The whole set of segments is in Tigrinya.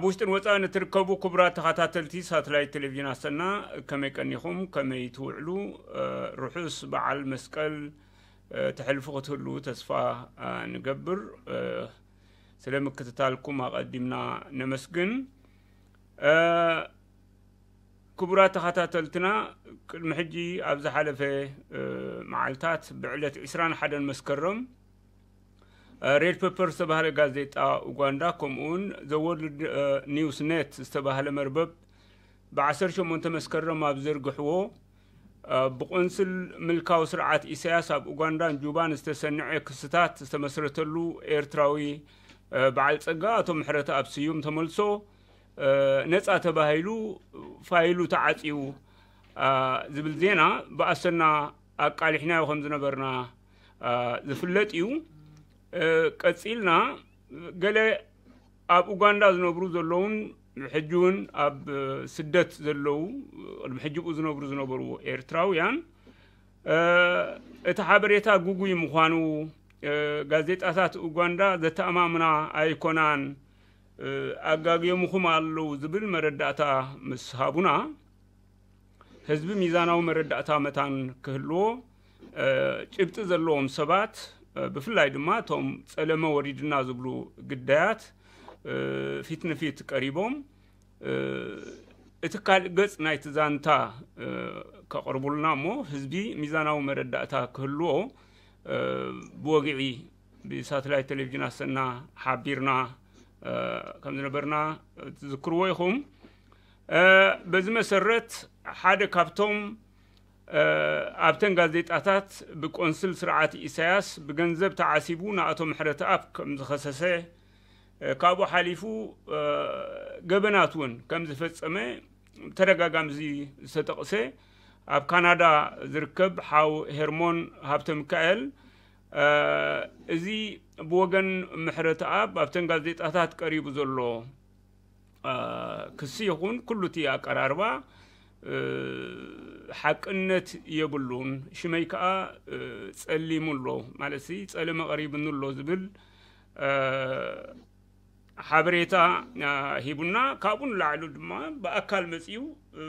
ውሽጥን ወፃእን እትርከቡ ክቡራት ተኸታተልቲ ሳተላይት ቴሌቪዥን ኣሰና፣ ከመይ ቀኒኹም? ከመይ ትውዕሉ? እ፣ ርሑስ በዓል መስቀል፣ እ፣ ተሕልፉ ክትህሉ ተስፋ፣ እ፣ ንገብር። እ፣ ስለ ምክትታልኩም ኣቐዲምና ነመስግን። እ፣ ክቡራት ተኸታተልትና፣ ቅድሚ ሕጂ ኣብ ዝሓለፈ፣ እ፣ መዓልታት ብዕለት ዕስራን ሓደን መስከረም፣ እ፣ ሬድ ፐፐር ዝተባህለ ጋዜጣ ኡጋንዳ፣ ከምኡውን ዘ ወርልድ፣ እ፣ ኒውስ ኔት ዝተባህለ መርበብ ብዓሰርተ ሸሞንተ መስከረም ኣብ ዘርግሕዎ፣ እ፣ ብቆንስል ምልካዊ ስርዓት ኢሳያስ ኣብ ኡጋንዳን ጁባን ዝተሰንዐ ክስታት ዝተመስረተሉ ኤርትራዊ፣ እ፣ በዓል ጸጋ ኣቶ ምሕረተኣብ ስዩም ተመልሶ፣ እ፣ ነጻ ተባሂሉ፣ ፋይሉ ተዓጽዩ፣ እ፣ ዝብል ዜና ብኣሰና ኣቃሊሕናዮ ከም ዝነበርና፣ እ፣ ዝፍለጥ እዩ። እ፣ ቀጺልና፣ ገለ ኣብ ኡጋንዳ ዝነብሩ ዘለውን ሕጂ እውን ኣብ ስደት ዘለዉ፣ ቅድሚ ሕጂ ብኡ ዝነብሩ ዝነበሩ ኤርትራውያን፣ እ፣ እቲ ሓበሬታ ግጉይ ምዃኑ፣ እ፣ ጋዜጣታት ኡጋንዳ ዘተኣማምና ኣይኮናን፣ እ፣ ኣጋግዮምኹም ኣለዉ ዝብል መረዳእታ ምስ ሃቡና፣ ህዝቢ ሚዛናዊ መረዳእታ መታን ክህልዎ፣ እ፣ ጭብጢ ዘለዎም ሰባት፣ እ፣ ብፍላይ ድማ እቶም ጸለመ ወሪድና ዝብሉ ግዳያት፣ እ፣ ፊት ንፊት ቀሪቦም፣ እ፣ እቲ ካልእ ገጽ ናይቲ ዛንታ፣ እ፣ ከቕርቡልና እሞ ህዝቢ ሚዛናዊ መረዳእታ ክህልዎ፣ እ፣ ብወግዒ ብሳተላይት ቴሌቪዥን ኣሰና ሓቢርና፣ እ፣ ከም ዝነበርና ትዝክርዎ ኢኹም። እ፣ በዚ መሰረት ሓደ ካብቶም፣ እ፣ ኣብተን ጋዜጣታት ብቆንስል ስርዓት ኢሳያስ ብገንዘብ ተዓሲቡ ንኣቶ ምሕረተኣብ ከም ዝኸሰሰ፣ እ፣ ካብኡ ሓሊፉ፣ እ፣ ገበናት እውን ከም ዝፈጸመ ተደጋጋሚ እዚ ዝተጠቕሰ ኣብ ካናዳ ዝርከብ ሓው ሄርሞን ሃብተ ሚካኤል፣ እ፣ እዚ ብወገን ምሕረተኣብ ኣብተን ጋዜጣታት ቀሪቡ ዘሎ፣ እ፣ ክሲ ይኹን ኩሉ እቲ ኣቀራርባ፣ እ፣ ሓቅነት የብሉን። ሽመይ ከኣ፣ እ፣ ጸሊሙ ኣሎ፣ ማለት ሲ ጸለመ ቀሪብኒ ኣሎ ዝብል፣ እ፣ ሓበሬታ፣ እ፣ ሂቡና። ካብኡ ንላዕሊ ድማ ብኣካል መጺኡ፣ እ፣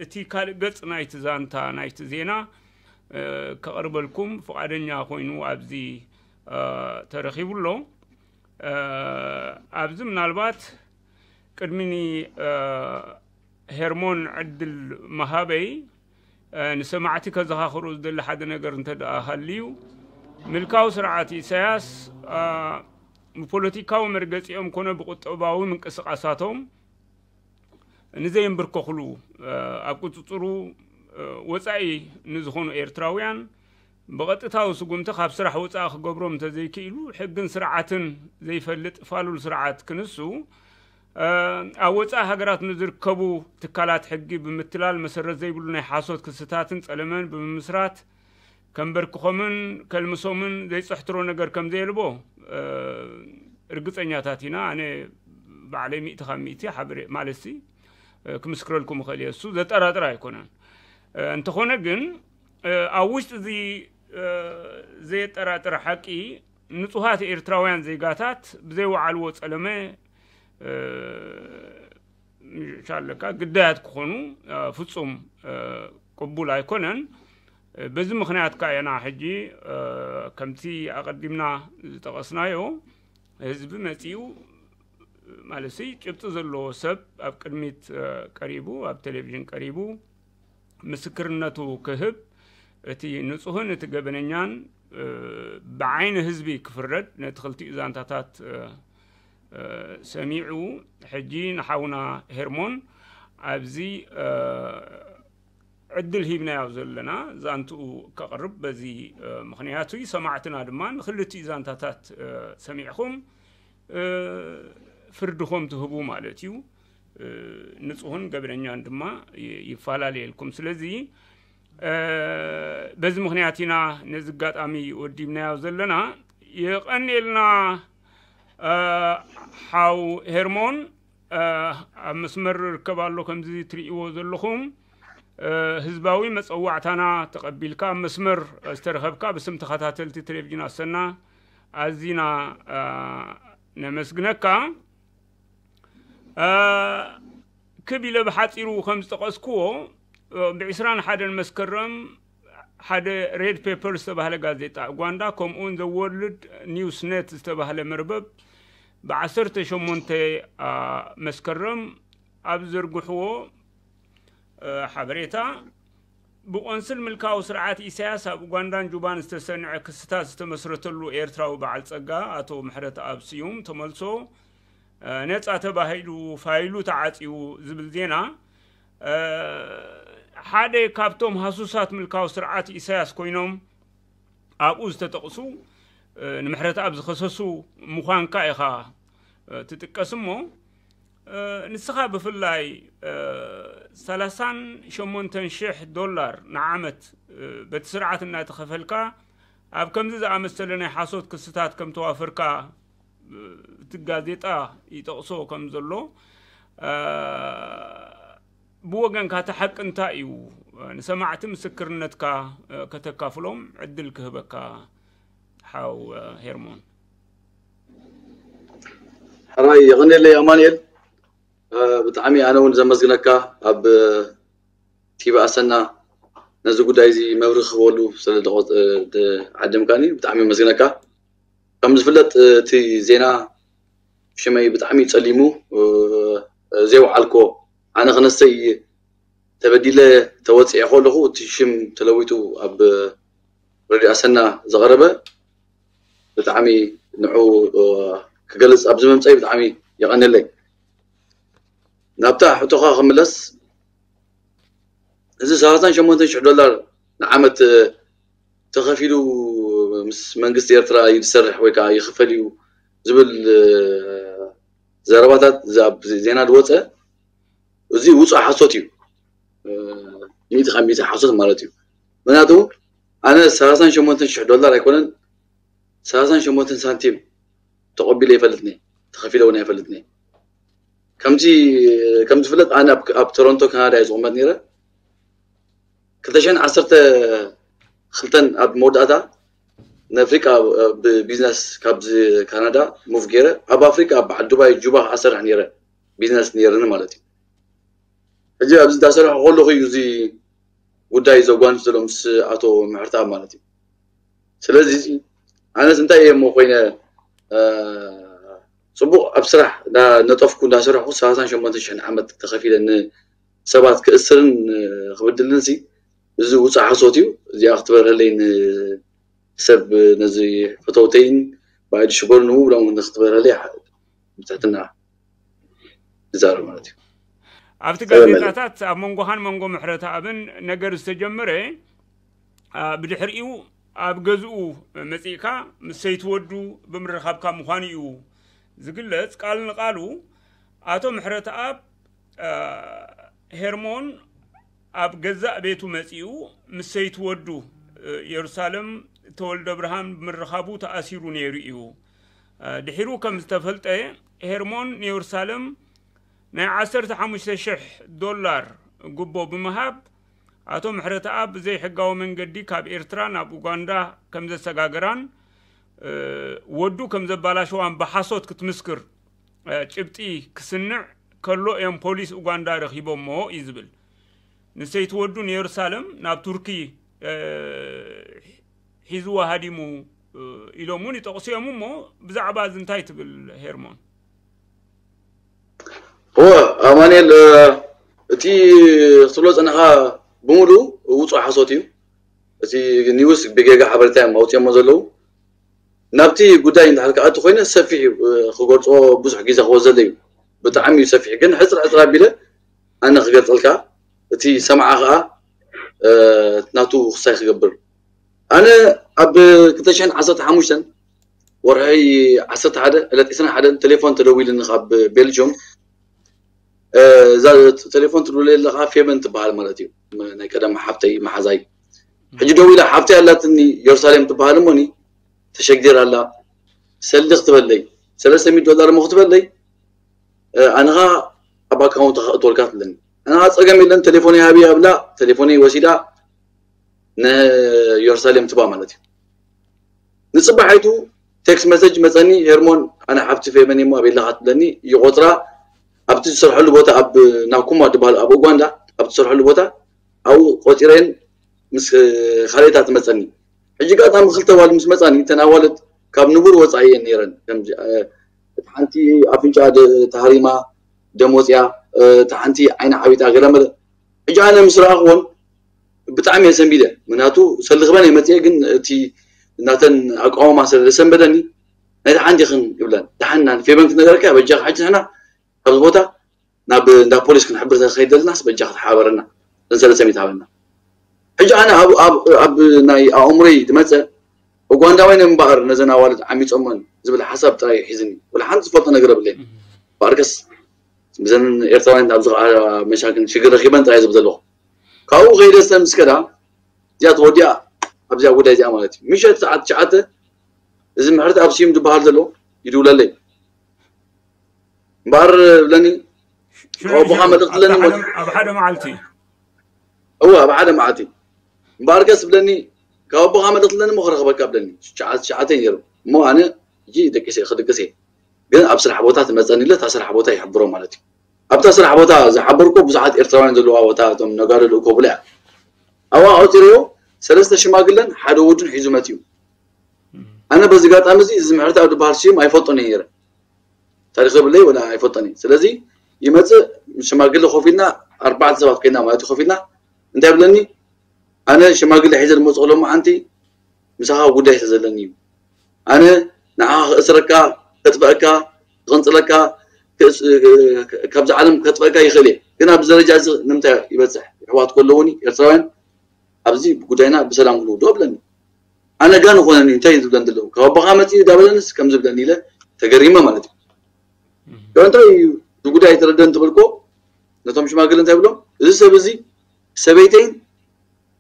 እቲ ካልእ ገጽ ናይቲ ዛንታ፣ ናይቲ ዜና፣ እ፣ ከቕርበልኩም ፍቓደኛ ኮይኑ ኣብዚ፣ እ፣ ተረኺቡ ኣሎ። እ፣ ኣብዚ ምናልባት ቅድሚ ኒ-፣ እ፣ ሄርሞን ዕድል ምሃበይ፣ እ፣ ንሰማዕቲ ከዘኻኽሮ ዝደሊ ሓደ ነገር እንተ ደኣ ሃልዩ፣ ምልካዊ ስርዓት ኢሳያስ፣ እ፣ ብፖለቲካዊ መርገጺኦም ኮነ ብቁጠባዊ ምንቅስቓሳቶም ንዘይንብርከኽሉ፣ እ፣ ኣብ ቁጽጽሩ፣ እ፣ ወጻኢ ንዝኾኑ ኤርትራውያን ብቐጥታዊ ስጉምቲ ካብ ስራሕ ወጻኢ ክገብሮም እንተዘይክኢሉ፣ ሕግን ስርዓትን ዘይፈልጥ ፋሉል ስርዓት ክንሱ፣ እ፣ ኣብ ወጻኢ ሃገራት ንዝርከቡ ትካላት ሕጊ ብምትላል መሰረት ዘይብሉ ናይ ሓሶት ክስታትን ጸለመን ብምምስራት፣ ከንበርክኾምን ከልምሶምን ዘይጽሕትሮ ነገር ከም ዘየልቦ፣ እ፣ ርግጸኛታት ኢና። ኣነ ባዕለይ ሚእቲ ካብ ሚእቲ ሓበሬ-፣ ማለትሲ፣ እ፣ ክምስክረልኩም እኽእል እየ። እሱ ዘጠራጥር ኣይኮነን። እ፣ እንተኾነ ግን፣ እ፣ ኣብ ውሽጢ እዚ፣ እ፣ ዘየጠራጥር ሓቂ፣ ንጹሃት ኤርትራውያን ዜጋታት ብዘይወዓልዎ ጸለመ፣ እ፣ ሻለካ ግዳያት ክኾኑ፣ እ፣ ፍጹም፣ እ፣ ቅቡል ኣይኮነን። እ፣ በዚ ምኽንያት ከኣ ኢና ሕጂ፣ እ፣ ከምቲ ኣቐዲምና ዝጠቐስናዮ፣ ህዝቢ መጺኡ፣ ማለትሲ ጭብጢ ዘለዎ ሰብ ኣብ ቅድሚት፣ እ፣ ቀሪቡ፣ ኣብ ቴሌቪዥን ቀሪቡ፣ ምስክርነቱ ክህብ፣ እቲ ንጹህን እቲ ገበነኛን፣ እ፣ ብዓይኒ ህዝቢ ክፍረድ፣ ነቲ ክልቲኡ ዛንታታት፣ እ፣ እ፣ ሰሚዑ፣ ሕጂ ንሓውና ሄርሞን ኣብዚ፣ እ፣ ዕድል ሂብናዮ ዘለና፣ ዛንትኡ ከቕርብ በዚ፣ እ፣ ምኽንያቱ እዩ። ሰማዕትና ድማ ንክልቲኡ ዛንታታት፣ እ፣ ሰሚዕኹም፣ እ፣ ፍርድኹም ትህቡ ማለት እዩ። እ፣ ንጹህን ገበነኛን ድማ ይ-፣ ይፈላለየልኩም። ስለዚ፣ እ፣ በዚ ምኽንያት ኢና ነዚ ኣጋጣሚ ወዲብናዮ ዘለና። የቐንየልና፣ እ፣ ሓው ሄርሞን፣ እ፣ ኣብ መስመር ርከብ ኣሎ፣ ከምዚ ትርእይዎ ዘለኹም። እ፣ ህዝባዊ መጸዋዕታና ተቐቢልካ ኣብ መስመር ዝተረኸብካ ብስም ተኸታተልቲ ቴሌቪዥን ኣሰና ኣዚና፣ እ፣ ነመስግነካ። ክብ ኢለ ብሓፂሩ ከም ዝጠቐስክዎ፣ ብዕስራን ሓደን መስከረም ሓደ ሬድ ፔፐር ዝተባህለ ጋዜጣ ኡጋንዳ፣ ከምኡውን ዘ ወርልድ ኒውስ ኔት ዝተባህለ መርበብ ብዓሰርተ ሸሞንተ መስከረም ኣብ ዝዘርግሕዎ ሓበሬታ፣ ብቆንስል ምልካዊ ስርዓት ኢሳያስ ኣብ ኡጋንዳን ጁባን ዝተሰንዐ ክስታት ዝተመስረተሉ ኤርትራዊ በዓል ጸጋ ኣቶ ምሕረተኣብ ስዩም ተመልሶ ነጻ ተባሂሉ፣ ፋይሉ ተዓጽዩ ዝብል ዜና፣ ሓደ ካብቶም ሃሱሳት ምልካዊ ስርዓት ኢሳያስ ኮይኖም ኣብኡ ዝተጠቕሱ፣ ንምሕረተኣብ ዝኸሰሱ ምዃንካ ኢኻ ትጥቀስ እሞ፣ ንስኻ ብፍላይ ሰላሳን ሸሞንተን ሽሕ ዶላር ንዓመት በቲ ስርዓት እናተኸፈልካ ኣብ ከምዚ ዝኣመሰለ ናይ ሓሶት ክስታት ከም ተዋፈርካ እቲ ጋዜጣ ይጠቕሶ ከም ዘሎ፣ ብወገንካ እቲ ሓቂ እንታይ እዩ? ንሰማዕቲ ምስክርነትካ ከተካፍሎም ዕድል ክህበካ ሓው ሄርሞን። ሕራይ የቐንየለይ ኣማንኤል። ብጣዕሚ ኣነ እውን ዘመስግነካ ኣብ ቲቪ ኣሰና ነዚ ጉዳይ እዚ መብርሂ ክህበሉ ስለ ዓደምካኒ ብጣዕሚ የመስግነካ። ከም ዝፍለጥ እቲ ዜና ሽመይ ብጣዕሚ ጸሊሙ ዘይወዓልኮ ኣነ ክነሰይ ተበዲለ ተወፅኤ ከለኹ እቲ ሽም ተለዊጡ ኣብ ረድዮ ኣሰና ዝቐረበ ብጣዕሚ ንዑ ክገልፅ ኣብዚ ምምፀይ ብጣዕሚ የቐንለይ። ናብታ ሕቶኻ ክምለስ፣ እዚ ሰላሳን ሸሞንተን ሽሕ ዶላር ንዓመት ተኸፊሉ ምስ መንግስቲ ኤርትራ እዩ ዝሰርሕ ወይ ከዓ ይኽፈል እዩ ዝብል ዘረባታት ኣብ ዜና ዝወፀ፣ እዚ ውፁእ ሓሶት እዩ። ሚእቲ ካብ ሚእቲ ሓሶት ማለት እዩ። ምክንያቱ ኣነ ሰላሳን ሸሞንተን ሽሕ ዶላር ኣይኮነን፣ ሰላሳን ሸሞንተን ሳንቲም ተቐቢለ ይፈልጥኒ፣ ተኸፊለ እውን ኣይፈልጥኒ። ከምዚ ከም ዝፍለጥ ኣነ ኣብ ቶሮንቶ ካናዳ እየ ዝቕመጥ ነይረ። ክልተ ሽሕን ዓሰርተ ክልተን ኣብ መወዳእታ ንኣፍሪቃ ብቢዝነስ ካብዚ ካናዳ ሙቭ ገይረ ኣብ ኣፍሪቃ ኣብ በዓል ዱባይ ጁባ ክኣሰርሕ ነይረ ቢዝነስ ነይርኒ ማለት እዩ። ሕጂ ኣብዚ እንዳሰርሐ ከለኹ እዩ እዚ ጉዳይ ዘጓንፍ ዘሎ ምስ ኣቶ ምሕርተኣብ ማለት እዩ። ስለዚ ኣነስ እንታይ እየ እሞ ኮይነ ፅቡቕ ኣብ ስራሕ እንዳነጠፍኩ እንዳሰርሕኩ ሰላሳን ሸሞንተ ሽሕን ዓመት ተኸፊለ ንሰባት ክእስርን ክብድልን ሲ እዚ ውፃእ ሓሶት እዩ። እዚኣ ክትበርሀለይ ንሰብ ነዚ ፈተውተይን ብኣይዲ ሽበሩ ንምብሎም ንክትበርሀለይ ብትሕትና ይዛረብ ማለት እዩ። ኣብቲ ጋዜጣታት ኣብ መንጎኻን መንጎ ምሕረተኣብን ነገር ዝተጀመረ ብድሕሪኡ ኣብ ገዝኡ መፂእካ ምስ ሰይቲ ወዱ ብምርኻብካ ምዃኑ እዩ ዝግለፅ። ቃል ንቃሉ ኣቶ ምሕረተኣብ ሄርሞን ኣብ ገዛእ ቤቱ መፂኡ ምስ ሰይቲ ወዱ የሩሳሌም ተወልደ ብርሃን ብምርኻቡ ተኣሲሩ ነይሩ እዩ። ድሒሩ ከም ዝተፈልጠ ሄርሞን ንየሩሳሌም ናይ ዓሰርተ ሓሙሽተ ሽሕ ዶላር ጉቦ ብምሃብ ኣቶ ምሕረተኣብ ብዘይሕጋዊ መንገዲ ካብ ኤርትራ ናብ ኡጋንዳ ከም ዘሰጋገራን ወዱ ከም ዘባላሸዋን ብሓሶት ክትምስክር ጭብጢ ክስንዕ ከሎ እዮም ፖሊስ ኡጋንዳ ረኺቦሞ እዩ ዝብል። ንሰይቲ ወዱ ንየሩሳሌም ናብ ቱርኪ ሒዝዋ ሃዲሙ ኢሎም እውን ይጠቕሱ እዮም። እሞ ብዛዕባ እዚ እንታይ ትብል ሄርሞን? እወ ኣማንኤል፣ እቲ ክትብሎ ዝፀናኻ ብምሉእ ውፁእ ሓሶት እዩ። እቲ ኒውስ ብጌጋ ሓበሬታ እዮም ኣውፅኦሞ ዘለዉ። ናብቲ ጉዳይ እንድሕር ክኣቱ ኮይነ ሰፊሕ እዩ ክገልፆ ብዙሕ ግዜ ክወስደለይ እዩ። ብጣዕሚ እዩ ሰፊሕ፣ ግን ሕፅር ሕፅር ኣቢለ ኣነ ክገልፀልካ፣ እቲ ሰማዓ ከዓ ናቱ ክሳይ ክገብር። ኣነ ኣብ ክልተ ሽሕን ዓሰርተ ሓሙሽተን ወርሒ ዓሰርተ ሓደ ዕለት ዕስራን ሓደን ቴሌፎን ተደዊሉኒ ካብ ቤልጅዮም። እዛ ቴሌፎን ትድውለለይ ዘለኻ ፌበን ትበሃል ማለት እዩ፣ ናይ ቀደም ሓፍተይ መሓዛይ። ሕጂ ደዊላ ሓፍተይ ኣላትኒ የሩሳሌም ትበሃል እሞኒ ተሸጊር ኣላ፣ ሰሊ ክትበለይ ሰለስተ ሚእቲ ዶላር እሞ ክትበለይ ኣነኻ ኣብ ኣካውንት ክእትወልካ ትብለኒ። ኣነኻ ፀገም የለን ቴሌፎነይ ሃቢ ኣብላ ቴሌፎነይ ወሲዳ ንየሩሳሌም ትባ ማለት እዩ። ንፅባሓይቱ ቴክስት መሰጅ መፀኒ፣ ሄርሞን ኣነ ሓፍቲ ፌበን እሞ ኣበይ ኣለኻ ትብለኒ፣ ይቆፅራ ኣብቲ ዝሰርሐሉ ቦታ ኣብ ናኩማ ዝበሃል ኣብ ኡጋንዳ ኣብ ዝሰርሐሉ ቦታ ኣብኡ ቆፂረን ምስ ካልኦታት መፀኒ። ሕጂ ኣጋጣሚ ክልተ ኣዋልድ ምስ መፃኒ እተን ኣዋልድ ካብ ንቡር ወፃኢ እየን ነይረን። ከምዚ እቲ ሓንቲ ኣፍንጫ ተሃሪማ ደም ወፅያ፣ እቲ ሓንቲ ዓይና ዓቢጣ ገለመለ። ሕጂ ኣነ ምስ ረኣኽዎን ብጣዕሚ እየ ሰንቢደ። ምክንያቱ ሰልኽበን እየ መፅየ፣ ግን እቲ ናተን ኣቃውማ ስለ ዘሰንበደኒ ናይታ ሓንቲ ይኽን ይብለን። ደሓን ፌበን ክነገረካ በጃ ሕጂ ንሕና ኣብዚ ቦታ ናብ እንዳ ፖሊስ ክንሕብር ተኸይድ ዘለናስ በጃ ክትሓበረና ዘንሰለ ሰሚት ሃበና። ሕጂ ኣነ ኣብ ናይ ኣእምሮይ ዝመፀ ኡጋንዳውያን እምበኣር ነዘን ኣዋልድ ዓሚፆመን ዝብል ሓሳብ ጥራይ ሒዝኒ። ወላ ሓንቲ ዝፈልጦ ነገር የብለይን። እምበኣርከስ ብዘን ኤርትራውያን ኣብዚ ከዓ መሻክን ሽግር ረኪበን ጥራይ ዝብል ዘለኹ። ካብኡ ከይደ ሰምስ ከዳ እዚኣ ተወዲኣ ኣብዚኣ ጉዳይ እዚኣ ማለት እዩ። ምሸት ሰዓት ትሽዓተ እዚ ምሕረት ኣብ ስዩም ዝበሃል ዘሎ ይድውለለይ። እምበኣር ብለኒ ካብ ኣቦኻ መልእኽቲ ኣለኒ እሞ ኣብ ሓደ መዓልቲ እወ ኣብ ሓደ መዓልቲ እምበኣር ከስ ብለኒ ካብ ኣቦኻ መልእኽቲ ኣለኒ እሞ ክረኽበካ ብለኒ። ትሽዓተ ትሽዓተ ነይሩ እሞ ኣነ ሕጂ ደቂሰ ክድቅስ እየ ግን ኣብ ስራሕ ቦታ ትመፀኒ ኢለ እታ ስራሕ ቦታ ይሕብሮ ማለት እዩ። ኣብታ ስራሕ ቦታ ዝሓበርኮ ብዙሓት ኤርትራውያን ዘለዋ ቦታ እቶም ነጋዶ ልእኮ ብላ እያ። ኣብኣ ኣውፂረዮ ሰለስተ ሽማግለን ሓደ ወዱን ሒዙ መፅዩ። ኣነ በዚ ጋጣሚ እዚ እዚ ምሕረት ኣብ ዝበሃል ስዩም ኣይፈልጦን እየ ነይረ። ታሪኽ የብለይ ወላ ኣይፈልጦን እየ። ስለዚ ይመፅእ ምስ ሽማግለ ኮፍ ኢልና ኣርባዕተ ሰባት ኮይና ማለት እዩ ኮፍ ኢልና እንታይ ብለኒ ኣነ ሽማግለ ሒዘ ዝመፅእ ከሎ መዓንቲ ምሳኻ ጉዳይ ስለ ዘለኒ እዩ። ኣነ ንዓኻ ክእስረካ፣ ከጥፍአካ፣ ክቕንፅለካ፣ ክእስ- ካብዚ ዓለም ከጥፍአካ ይኽእል እየ። ግን ኣብዚ ደረጃ እዚ ንምንታይ ይበፅሕ? ኣሕዋት ከለዉኒ ኤርትራውያን ኣብዚ ጉዳይና ብሰላም ክንውድኦ ብለኒ። ኣነ ጋን ኾነኒ እንታይ እዩ ዝብለን ዘለዉ? ካብ ኣቦኻ መፂኡ ዳበለንስ ከም ዝብለኒ ኢለ ተገሪመ ማለት እዩ። ዶ እንታይ እዩ እዚ ጉዳይ ተረደን ትብልኮ ነቶም ሽማግለ እንታይ ብሎም እዚ ሰብ እዚ ሰበይተይን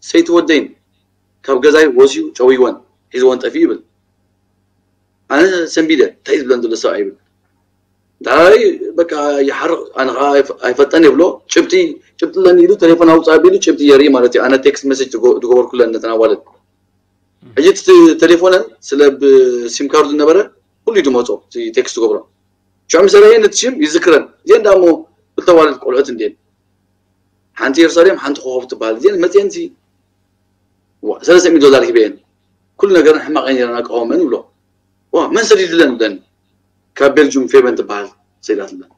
ሰይቲ ወደይን ካብ ገዛይ ወስዩ ጨውይወን ሒዝወን ጠፊኡ ይብል። ኣነ ሰንቢደ እንታይ እዩ ዝብለን ዘሎ ሰብኣይ ይብል። እንታይ በቃ ይሓርቕ ኣነ ከዓ ኣይፈ- ኣይፈጠን ይብሎ ጭብጢ ጭብጢ ኣለኒ ኢሉ ቴሌፎን ኣውፅእ ኣቢሉ ጭብጢ የርኢ ማለት እዩ። ኣነ ቴክስት መሴጅ ዝገ- ዝገበርኩለን ነተን ኣዋልድ ሕጂ እቲ ቴሌፎነን ስለ ብሲም ካርዱ ዝነበረ ኩሉ እዩ ዝመፆ እቲ ቴክስት ዝገብሮ ሽዑ ምስ ረአየን እቲ ሽም ይዝክረን እዚአን ዳ እሞ ክልተ ኣዋልድ ቆልዑት እንድየን ሓንቲ የሩሳሌም ሓንቲ ኮኸብ ትበሃል እዚአን መፅየን ሲ ሰለስተ ሚእቲ ዶላር ሂበየን ኩሉ ነገረን ሕማቕ እየን ነይረን ኣቃወመን ይብሎ ዋ መን ሰዲድለን ብለኒ ካብ ቤልጁም ፌበን ትበሃል ሰይዳትለን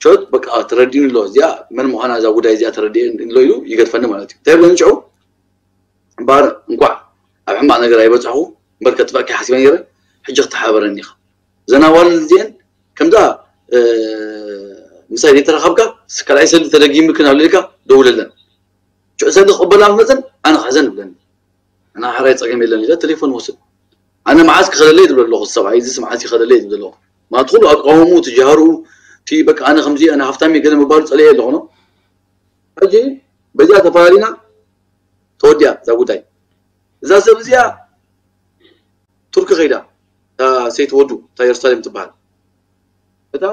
ቾት በቃ ተረዲኒ ኣሎ እዚኣ መን ምዃና እዛ ጉዳይ እዚኣ ተረዲኤ ኣሎ ኢሉ ይገድፈኒ ማለት እዩ እንታይ ብለኒ ሽዑ እምበኣር እንኳዕ ኣብ ሕማቕ ነገር ኣይበፃሕኹ እምበር ከጥፍኣካ ሓሲበ ነይረ ሕጂ ክተሓበረኒ ኢኻ እዘን ኣዋልድ እዚአን ከምዛ ምሳይ ዘይተራኸብካ ካልኣይ ሰልዲ ተደጊምክን ኣብ ልልካ ደውለለን ሽዑ ሰልዲ ክቕበላ ምስ መፀን ኣነ ክሕዘን ይብለኒ ኣነ ሓራይ ፀገም የለን ኢለ ቴሌፎን ወስድ ኣነ መዓዝ ክኸደለይ ዝብል ኣለኹ ሰብኣይ እዚ መዓዝ ይኸደለይ ዝብል ኣለኹ ማለት ኩሉ ኣቃወሙ ትጃሃሩ እቲ በቃ ኣነ ከምዚ ኣነ ሃፍታም ገለ ምባሉ ፀለየ ኣለኹ ሕጂ በዚኣ ተፈላለና ተወዲኣ እዛ ጉዳይ እዛ ሰብ እዚኣ ቱርኪ ከይዳ እታ ሰይቲ ወዱ እታ የሩሳሌም ትበሃል እታ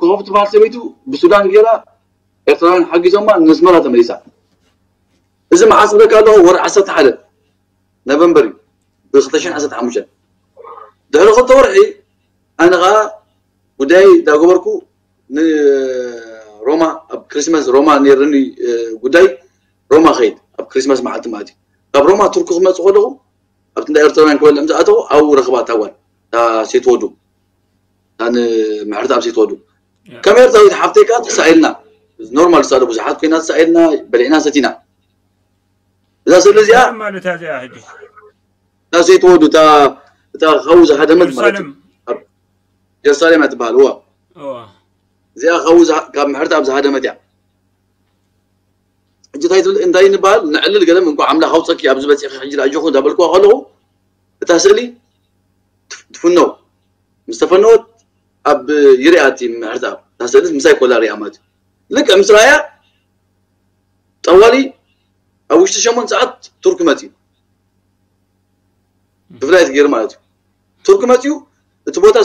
ኮኸብ ትበሃል ሰበይቱ ብሱዳን ገይራ ኤርትራውያን ሓጊዞማ ነስመራ ተመሊሳ እዚ መዓስ ብለካ ኣለኹ ወር ዓሰርተ ሓደ ኖቨምበር እዩ ብ2015 ድሕሪ ክልተ ወርሒ ኣነ ከዓ ጉዳይ እንዳገበርኩ ንሮማ ኣብ ክሪስማስ ሮማ ነይርኒ ጉዳይ ሮማ ከይድ ኣብ ክሪስማስ መዓልቲ ማለት እዩ ካብ ሮማ ቱርኪ ክመፅእ ከለኹ ኣብቲ እንዳ ኤርትራውያን ክበልዕ ምስ ኣተኹ ኣብኡ ረኽባ እታ ጓል እታ ሴት ወዱ እታ ንምሕረት ኣብ ሴት ወዱ ከም ኤርትራዊት ሓፍተይ ከዓ ተሳኢልና ኖርማል ዝሳለ ብዙሓት ኮይና ተሳኢልና በሊዕና ሰቲና እዛ ስእሊ እዚኣ ማለት እያ እዚኣ ሕጂ እታ ሴት ወዱ እታ እታ ካብኡ ዝሃደመት ማለት እዩ ጀሩሳሌም እያ ትበሃል እዋ እዚኣ ካብኡ ካብ ምሕረት ኣብ ዝሃደመት እያ ሕጂ እንታይ ትብል እንታይ ንበሃል ንዕልል ገለ እንኳ ኣምላኽ ኣውፀኪ ኣብዚ በፂኺ ሕጂ ኣጆኹ እንዳበልክዋ ከለኹ እታ ስእሊ ትፍነው ምስ ተፈነወት ኣብ ይሪኣ እቲ ምሕረት ኣብ እታ ስእሊ ምሳይ ኮላ ሪኣ ማለት እዩ ልክዕ ምስ ረኣያ ጠዋሊ ኣብ ውሽጢ ሸሞንተ ሰዓት ቱርክ መፅዩ ብፍላይ ገይሩ ማለት እዩ ቱርክ መፅዩ እቲ ቦታ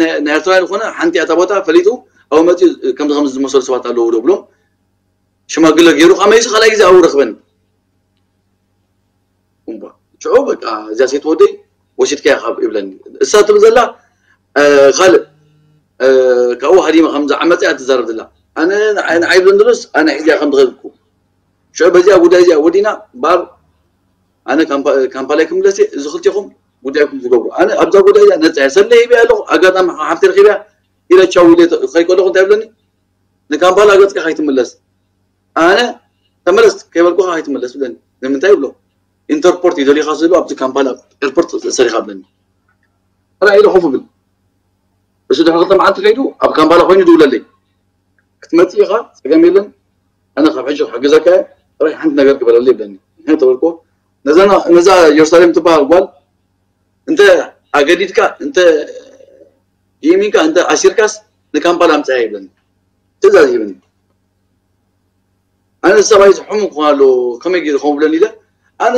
ናይ ኤርትራውያን ዝኾነ ሓንቲ እታ ቦታ ፈሊጡ ኣብ መፅኡ ከምዚ ከምዚ ዝመሰሉ ሰባት ኣለዉ ዶ ብሎም ሽማግለ ገይሩ ከዓ መሊሱ ካልኣይ ግዜ ኣብኡ ረኽበኒ እምቧ ሽዑ በቃ እዚኣ ሴት ወደይ ወሲድካያ ካብ ይብለኒ እሳ ትብል ዘላ ካልእ ካብኡ ሃዲማ ከም ዝዓመፀ እያ ትዛረብ ዘላ። ኣነ ንዓይ ብለን ዘሎስ ኣነ ሒዚያ ከም ዝኸድኩ ሽዑ በዚኣ ጉዳይ እዚኣ ወዲና ባር ኣነ ካምፓላ ክምለስ እየ። እዚ ክልቴኹም ጉዳይኩም ዝገብሩ። ኣነ ኣብዛ ጉዳይ እዚኣ ነፃ እየ። ሰለ ሂበ ኣለኹ። ኣጋጣሚ ሓፍቲ ረኺበ ኢለ ቻው ኢለ ከይድ ከለኹ እንታይ ብለኒ? ንካምፓላ ገፅካ ከይትምለስ። ኣነ ተመለስ ከይበልኩኻ ከይትምለስ ብለኒ። ንምንታይ ብሎ? ኢንተርፖርት ይደሊኻ ስሉ ኣብቲ ካምፓላ ኤርፖርት ሰሪኻ ብለኒ። ራ ኢለ ኮፍ ብል። እሱ ድሕሪ ክልተ መዓልቲ ከይዱ ኣብ ካምፓላ ኮይኑ ድውለለይ። ክትመጽእ ኢኻ፣ ጸገም የለን። ኣነ ካብ ሕጂ ክሕግዘካ እየ። ጥራይ ሓንቲ ነገር ግበረለይ ይብለኒ። ንሕን ተበልኮ ነዛ ኢየሩሳሌም ትበሃል ጓል እንተ ኣገዲድካ እንተ ይእሚንካ እንተ ኣሲርካስ ንካምፓላ ኣምጽያ ይብለኒ። ትእዛዝ ይብለኒ። ኣነ ሰብኣይ ዝሕሙ ክኾን ኣለዎ ከመይ ገይሩ ከምኡ ብለኒ ኢለ ኣነ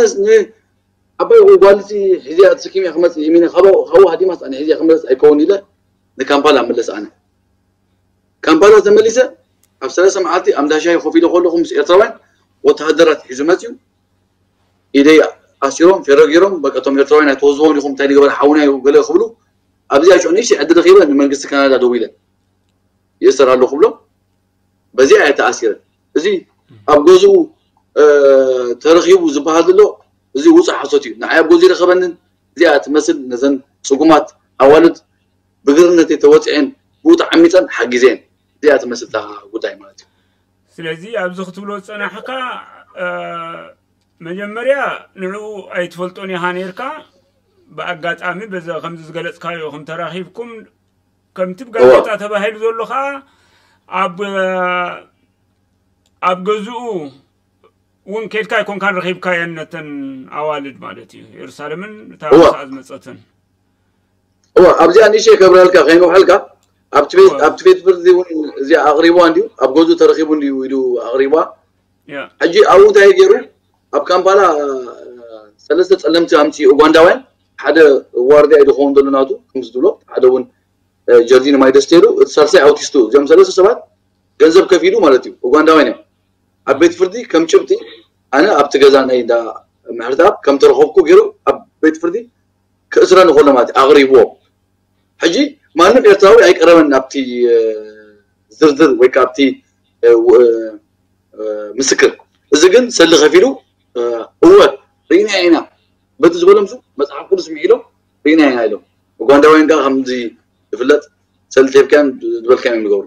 ዓባይ ጓልቲ ሒዚያ ተሰኪመ ክመጽእ ይሚነ ካብኡ ሃዲማስ ኣነ ሒዚያ ክመለስ ኣይከውን ኢለ ንካምፓላ ምለስ ኣነ ካምፓላ ተመሊሰ ኣብ ሰለስተ መዓልቲ ኣብ እንዳሻይ ኮፍ ኢለ ከለኹ ምስ ኤርትራውያን ወተሃደራት ሒዙ መፅዩ ኢደይ ኣሲሮም ፌሮ ገይሮም በቀቶም ኤርትራውያን ኣይትወዝቦን ኢኹም እንታይ ንገበር ሓውና እዩ ገለ ክብሉ ኣብዚኣ ሽዑ ንእሽተይ ዕድል ረኺበ ንመንግስቲ ካናዳ ደዊለ ይእሰር ኣለኹ ብሎም በዚኣ እየ ተኣሲረ። እዚ ኣብ ገዝኡ ተረኺቡ ዝበሃል ዘሎ እዚ ውፁእ ሓሶት እዩ። ንዓይ ኣብ ገዝኡ ይረኸበንን እዚኣ ትመስል ነዘን ፅጉማት ኣዋልድ ብግርነተይ ተወፂዐን ብኡ ተዓሚፀን ሓጊዘን እዚኣ ትመስል እታ ጉዳይ ማለት እዩ። ስለዚ ኣብዚ ክትብሎ ዝፀናሕካ መጀመርያ ንዕኡ ኣይትፈልጦን ኢኻ ነርካ ብኣጋጣሚ በዚ ከምዚ ዝገለፅካዮ ከም ተራኺብኩም ከምቲ ብጋዜጣ ተባሂሉ ዘሎ ከዓ ኣብ ኣብ ገዝኡ እውን ኬድካ ኣይኮንካን ረኺብካየን ነተን ኣዋልድ ማለት እዩ ኢየሩሳሌምን እታ ሳኣ ዝመፀትን እዋ ኣብዚኣ ንእሽተይ ከብረልካ ከይንውሐልካ ኣብቲ ቤት ፍርዲ እውን እዚኣ ኣቕሪብዋ እንድዩ ኣብ ገዝኡ ተረኺቡ እንድዩ ኢሉ ኣቕሪብዋ ሕጂ ኣብኡ እንታይ ገይሩ ኣብ ካምፓላ ሰለስተ ፀለምቲ ኣምፅኡ ኡጋንዳውያን ሓደ ዋርድያ እዩ ዝኸውን ዘሎ ናቱ ከምዚ ትብሎ ሓደ እውን ጀርዲን ማይ ደስቴሉ እቲ ሳልሳይ ኣውቲስቱ እዚኦም ሰለስተ ሰባት ገንዘብ ከፊሉ ማለት እዩ ኡጋንዳውያን እዮም ኣብ ቤት ፍርዲ ከም ጭብጢ ኣነ ኣብቲ ገዛ ናይ እንዳ ምሕረተኣብ ከም ተረኸብኩ ገይሩ ኣብ ቤት ፍርዲ ክእስረኒ ከሎ ማለት እዩ ኣቕሪብዎ ሕጂ ማንም ኤርትራዊ ኣይቀረበን ናብቲ ዝርዝር ወይ ከዓ ኣብቲ ምስክር እዚ ግን ሰሊ ከፊሉ እወ ርኢና ኢና በቲ ዝበሎም ሱ መፅሓፍ ቅዱስ ምሒሎም ርኢና ኢና ኢሎም ኡጋንዳውያን ከዓ ከምዚ ዝፍለጥ ሰሊ ተብካን ዝበልካን እዮም ዝገብሩ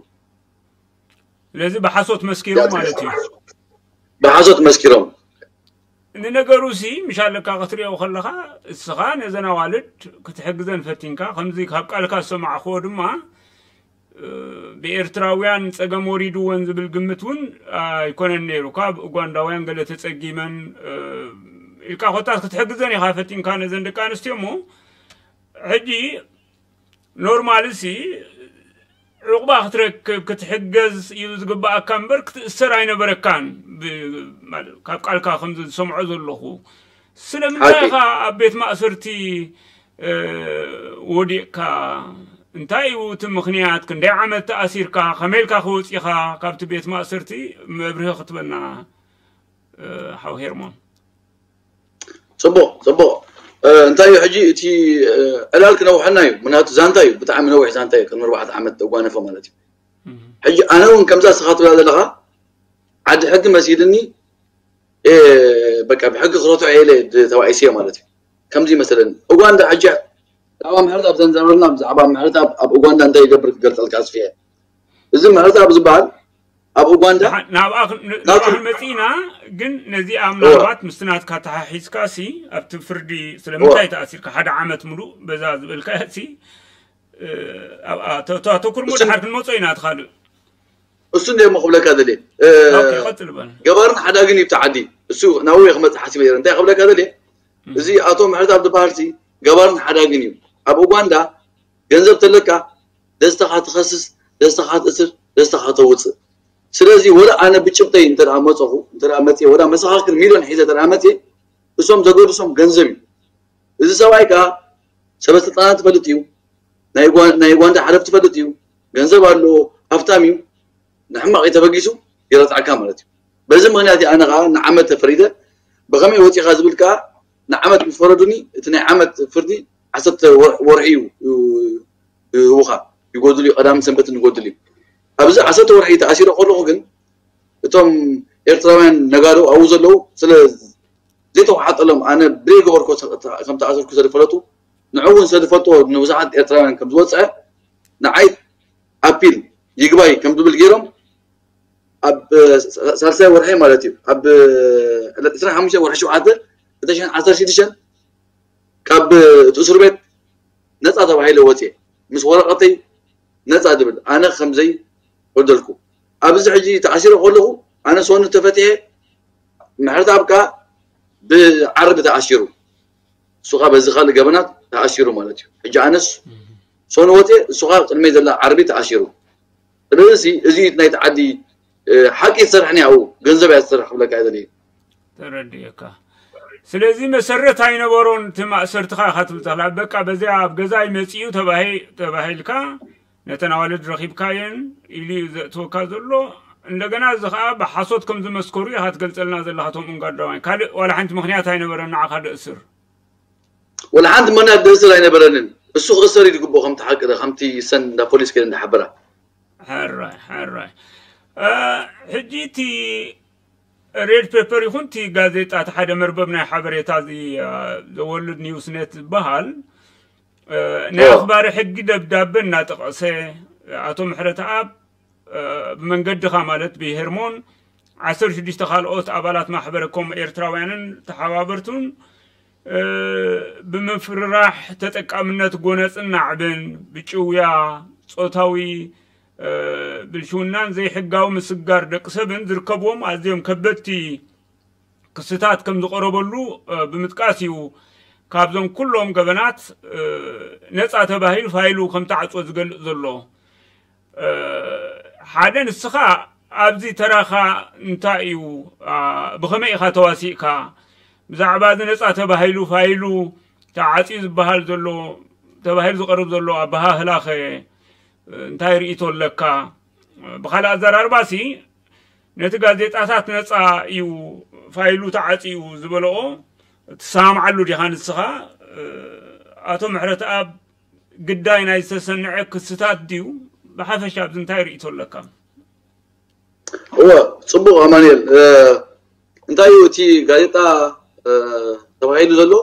ስለዚ ብሓሶት መስኪሮም ማለት እዩ ብሓሶት መስኪሮም ንነገሩ ሲ ምሽ ኣለካ ክትሪኦ ከለካ እስኻ ነዘን ኣዋልድ ክትሕግዘን ፈቲንካ ከምዚ ካብ ቃልካ ዝሰማዕክዎ ድማ ብኤርትራውያን ጸገም ወሪድወን ዝብል ግምት እውን ኣይኮነን ነይሩ ካብ ኡጋንዳውያን ገለ ተጸጊመን ኢልካ ኮታስ ክትሕግዘን ኢኻ ፈቲንካ ነዘን ደቂ ኣንስትዮ እሞ ሕጂ ኖርማል ሲ ዕቑባ ክትረክብ ክትሕገዝ እዩ ዝግባኣካ እምበር ክትእሰር ኣይነበረካን ካብ ቃልካ ከምዚ ዝሰምዖ ዘለኹ ስለምንታይ ኢኻ ኣብ ቤት ማእሰርቲ ወዲቕካ እንታይ እዩ እቲ ምኽንያት ክንደይ ዓመት ተኣሲርካ ከመይ ኢልካ ክወፂኻ ካብቲ ቤት ማእሰርቲ መብርሂ ክትበና ሓው ሄርሞን ፅቡቕ ፅቡቕ እንታይ እዩ ሕጂ እቲ ዕላል ክነውሐና እዩ ምክንያቱ ዛንታ እዩ ብጣዕሚ ነዊሕ ዛንታ እዩ ከም ኣርባዕተ ዓመት ተጓነፈ ማለት እዩ ሕጂ ኣነ እውን ከምዛ ስኻ ትብላ ዘለኻ ዓዲ ሕጊ መሲልኒ በቃ ብሕጊ ክረትዖ ኢለ ተባኢሰዮ ማለት እዩ ከምዚ ይመስለኒ ኡጋንዳ ሕጂ ብዛዕባ ምሕረት ኣብ ዘንዘበልና ብዛዕባ ምሕረት ኣብ ኡጋንዳ እንታይ ይገብር ክገልፀልካ ኣስፍየ እዚ ምሕረት ኣብ ዝበሃል ኣብ ኡጋንዳ ናብኣ ክንመፅእ ኢና ግን ነዚኣ ምናልባት ምስቲ ናትካ ተሓሒዝካ ሲ ኣብቲ ፍርዲ ስለምንታይ ተኣሲርካ ሓደ ዓመት ሙሉእ በዛ ዝበልካ ሲ ኣብኣ ተኩርሞ ድሓር ክንመፆ ኢና ትካልእ እሱ እንደ ሞ ክብለካ ደልየ ቀፅል በል ገባርን ሓዳግን እዩ ብቲ ዓዲ እሱ ናብኡ ክመፅእ ሓሲበ ነረ እንታይ ክብለካ ደልየ እዚ ኣቶ ምሕረት ኣብ ዝበሃል ሲ ገባርን ሓዳግን እዩ ኣብ ኡጋንዳ ገንዘብ ተለካ ደስተኻ ትኸስስ ደስተኻ ትእስር ደስተኻ ተውፅእ ስለዚ ወላ ኣነ ብጭብጠይ እንተ መፀኹ እንተ መፅየ ወላ መሰኻክር ሚልዮን ሒዘ እንተ መፅየ እሶም ዘገድሶም ገንዘብ እዩ እዚ ሰብኣይ ከዓ ሰበስልጣናት ትፈልጥ እዩ ናይ ጓንዳ ሓለፍ ትፈልጥ እዩ ገንዘብ ኣለዎ ሃፍታም እዩ ንሕማቕ ተበጊሱ ይረትዓካ ማለት እዩ በዚ ምክንያት ኣነ ከዓ ንዓመት ተፈሪደ ብኸመይ ወፂኻ ዝብል ከዓ ንዓመት ምስ ፈረዱኒ እቲ ናይ ዓመት ፍርዲ ዓሰርተ ወርሒ እዩ ይህቡኻ ይጎድል እዩ፣ ቀዳምን ሰንበትን ይጎድል እዩ። ኣብዚ ዓሰርተ ወርሒ ተኣሲረ ከለኹ ግን እቶም ኤርትራውያን ነጋዶ ኣብኡ ዘለዉ ስለ ዘይተዋሓጠሎም ኣነ ብደይ ገበርኮ ከም ተኣሰርኩ ስለ ዝፈለጡ ንዑ እውን ስለ ዝፈልጥዎ ንብዙሓት ኤርትራውያን ከም ዝወፀ ንዓይ ኣፒል ይግባይ ከም ዝብል ገይሮም ኣብ ሳልሳይ ወርሒ ማለት እዩ ኣብ ዕለት ዕስራን ሓሙሽተን ወርሒ ሸውዓተ ክልተ ሽሕን ዓሰርተ ሽዱሽተን ካብ እቲ እስር ቤት ነፃ ተባሂለ ወፅየ ምስ ወረቐተይ ነፃ ዝብል ኣነ ከምዘይ በደልኩ ኣብዚ ሕጂ ተኣሲረ ከለኹ ኣነ ሰኑ ተፈትሐ ምሕረት ኣብካ ብዓርቢ ተኣሲሩ እሱኻ በዚ ካልእ ገበናት ተኣሲሩ ማለት እዩ ሕጂ ኣነስ ሰኑ ወፅየ እሱኻ ቅድመይ ዘላ ዓርቢ ተኣሲሩ ስለዚ እዚ ናይቲ ዓዲ ሓቂ ትሰርሕ ኒያው ገንዘብ እያ ትሰርሕ ክብለካ እየ ዘድሊ ተረድየካ ስለዚ መሰረት ኣይነበሮን እቲ ማእሰርትኻ ኢኻ ትብል ተኽላ በቃ በዚያ ኣብ ገዛይ መፂኡ ተባሂልካ ነተን ኣዋልድ ረኺብካየን ኢሉ እዩ ዘእትወካ ዘሎ እንደገና እዚ ከዓ ብሓሶት ከም ዝመስከሩ ኢኻ ትገልፀልና ዘለኻ ቶም እንጋዳዋይ ካልእ ዋላ ሓንቲ ምክንያት ኣይነበረን ንዓኻ ደእስር ወላ ሓንቲ ምክንያት ደእስር ኣይነበረንን እሱ ክእሰር እዩ ዝግብኦ ከምቲ ሓቂ ከምቲ ሰን እንዳ ፖሊስ ከይደ እንዳሓበራ ሕራይ ሕራይ ሕጂ እቲ ሬድ ፔፐር ይኹን እቲ ጋዜጣ እቲ ሓደ መርበብ ናይ ሓበሬታ ዘወልድ ኒውስኔት ዝበሃል ናይ ኣኽባሪ ሕጊ ደብዳበ እናጠቐሰ ኣቶ ምሕረተኣብ ብመንገድኻ ማለት ብሄርሞን ዓሰርተ ሽዱሽተ ካልኦት ኣባላት ማሕበረ ኮም ኤርትራውያንን ተሓባበርቱን ብምፍርራሕ ተጠቃምነት ጎነፅን ናዕብን ብጭውያ ፆታዊ ብልሽውናን ዘይሕጋዊ ምስጋር ደቂ ሰብን ዝርከብዎም ኣዝዮም ከበድቲ ክስታት ከም ዝቐረበሉ ብምጥቃስ እዩ ካብዞም ኩሎም ገበናት ነፃ ተባሂሉ ፋይሉ ከም ተዓፅወ ዝገልፅ ዘሎ ሓደ ንስኻ ኣብዚ ተራኻ እንታይ እዩ ብኸመይ ኢኻ ተዋሲእካ ብዛዕባ እዚ ነፃ ተባሂሉ ፋይሉ ተዓፅዩ ዝበሃል ዘሎ ተባሂሉ ዝቐርብ ዘሎ ኣበሃህላኸ እንታይ ርእቶ ኣለካ ብኻልእ ኣዘራርባሲ ነቲ ጋዜጣታት ነፃ እዩ ፋይሉ ተዓፅዩ ዝበለኦ ትሰማምዓሉ ዲኻ ንስኻ ኣቶ ምሕረተኣብ ግዳይ ናይ ዝተሰንዐ ክስታት ድዩ ብሓፈሻ ኣብዚ እንታይ ርእቶ ኣለካ እወ ፅቡቅ ኣማንኤል እንታይ እዩ እቲ ጋዜጣ ተባሂሉ ዘሎ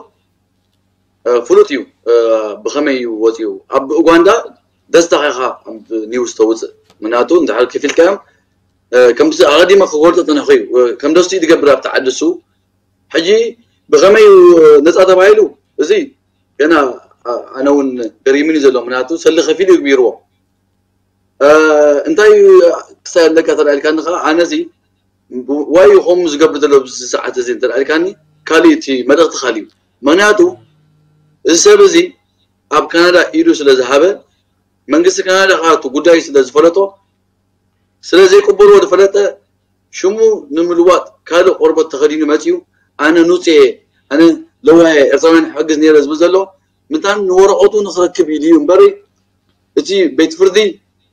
ፍሉጥ እዩ ብኸመይ እዩ ወፂኡ ኣብ ኡጋንዳ ደስታኻ ኢኻ ኒውስ ተውፅእ ምክንያቱ እንድሕር ከፊልካዮም ከምዚ ኣቐዲመ ክገልፆ ፀኒኹ እዩ ከም ደስቲ ዝገብር ኣብቲ ዓዲ እሱ ሕጂ ብኸመይ እዩ ነፃ ተባሂሉ እዚ ገና ኣነ እውን ገሪሙኒ ዘሎ ምክንያቱ ሰሊ ከፊሉ ይግቢርዎ እንታይ ክሳይ ኣለካ ተላኢልካኒ ከዓ ኣነዚ ዋይ ከምኡ ዝገብር ዘሎ ኣብዚ ሰዓት እዚ እንተልካኒ ካሊእ እቲ መልእኽቲ ካሊእ ምክንያቱ እዚ ሰብ እዚ ኣብ ካናዳ ኢዱ ስለ ዝሃበ መንግስቲ ካናዳ ከዓ እቲ ጉዳይ ስለ ዝፈለጦ ስለ ዘይቅበልዎ ዝፈለጠ ሽሙ ንምልዋጥ ካልእ ቆርበት ተኸዲኑ መፂኡ ኣነ ኑፅ እየ ኣነ ለዋየ ኤርትራውያን ሕግዝ ነይረ ዝብል ዘሎ ምንታን ንወረቐቱ ንክረክብ ኢሉ እዩ እምበሪ እቲ ቤት ፍርዲ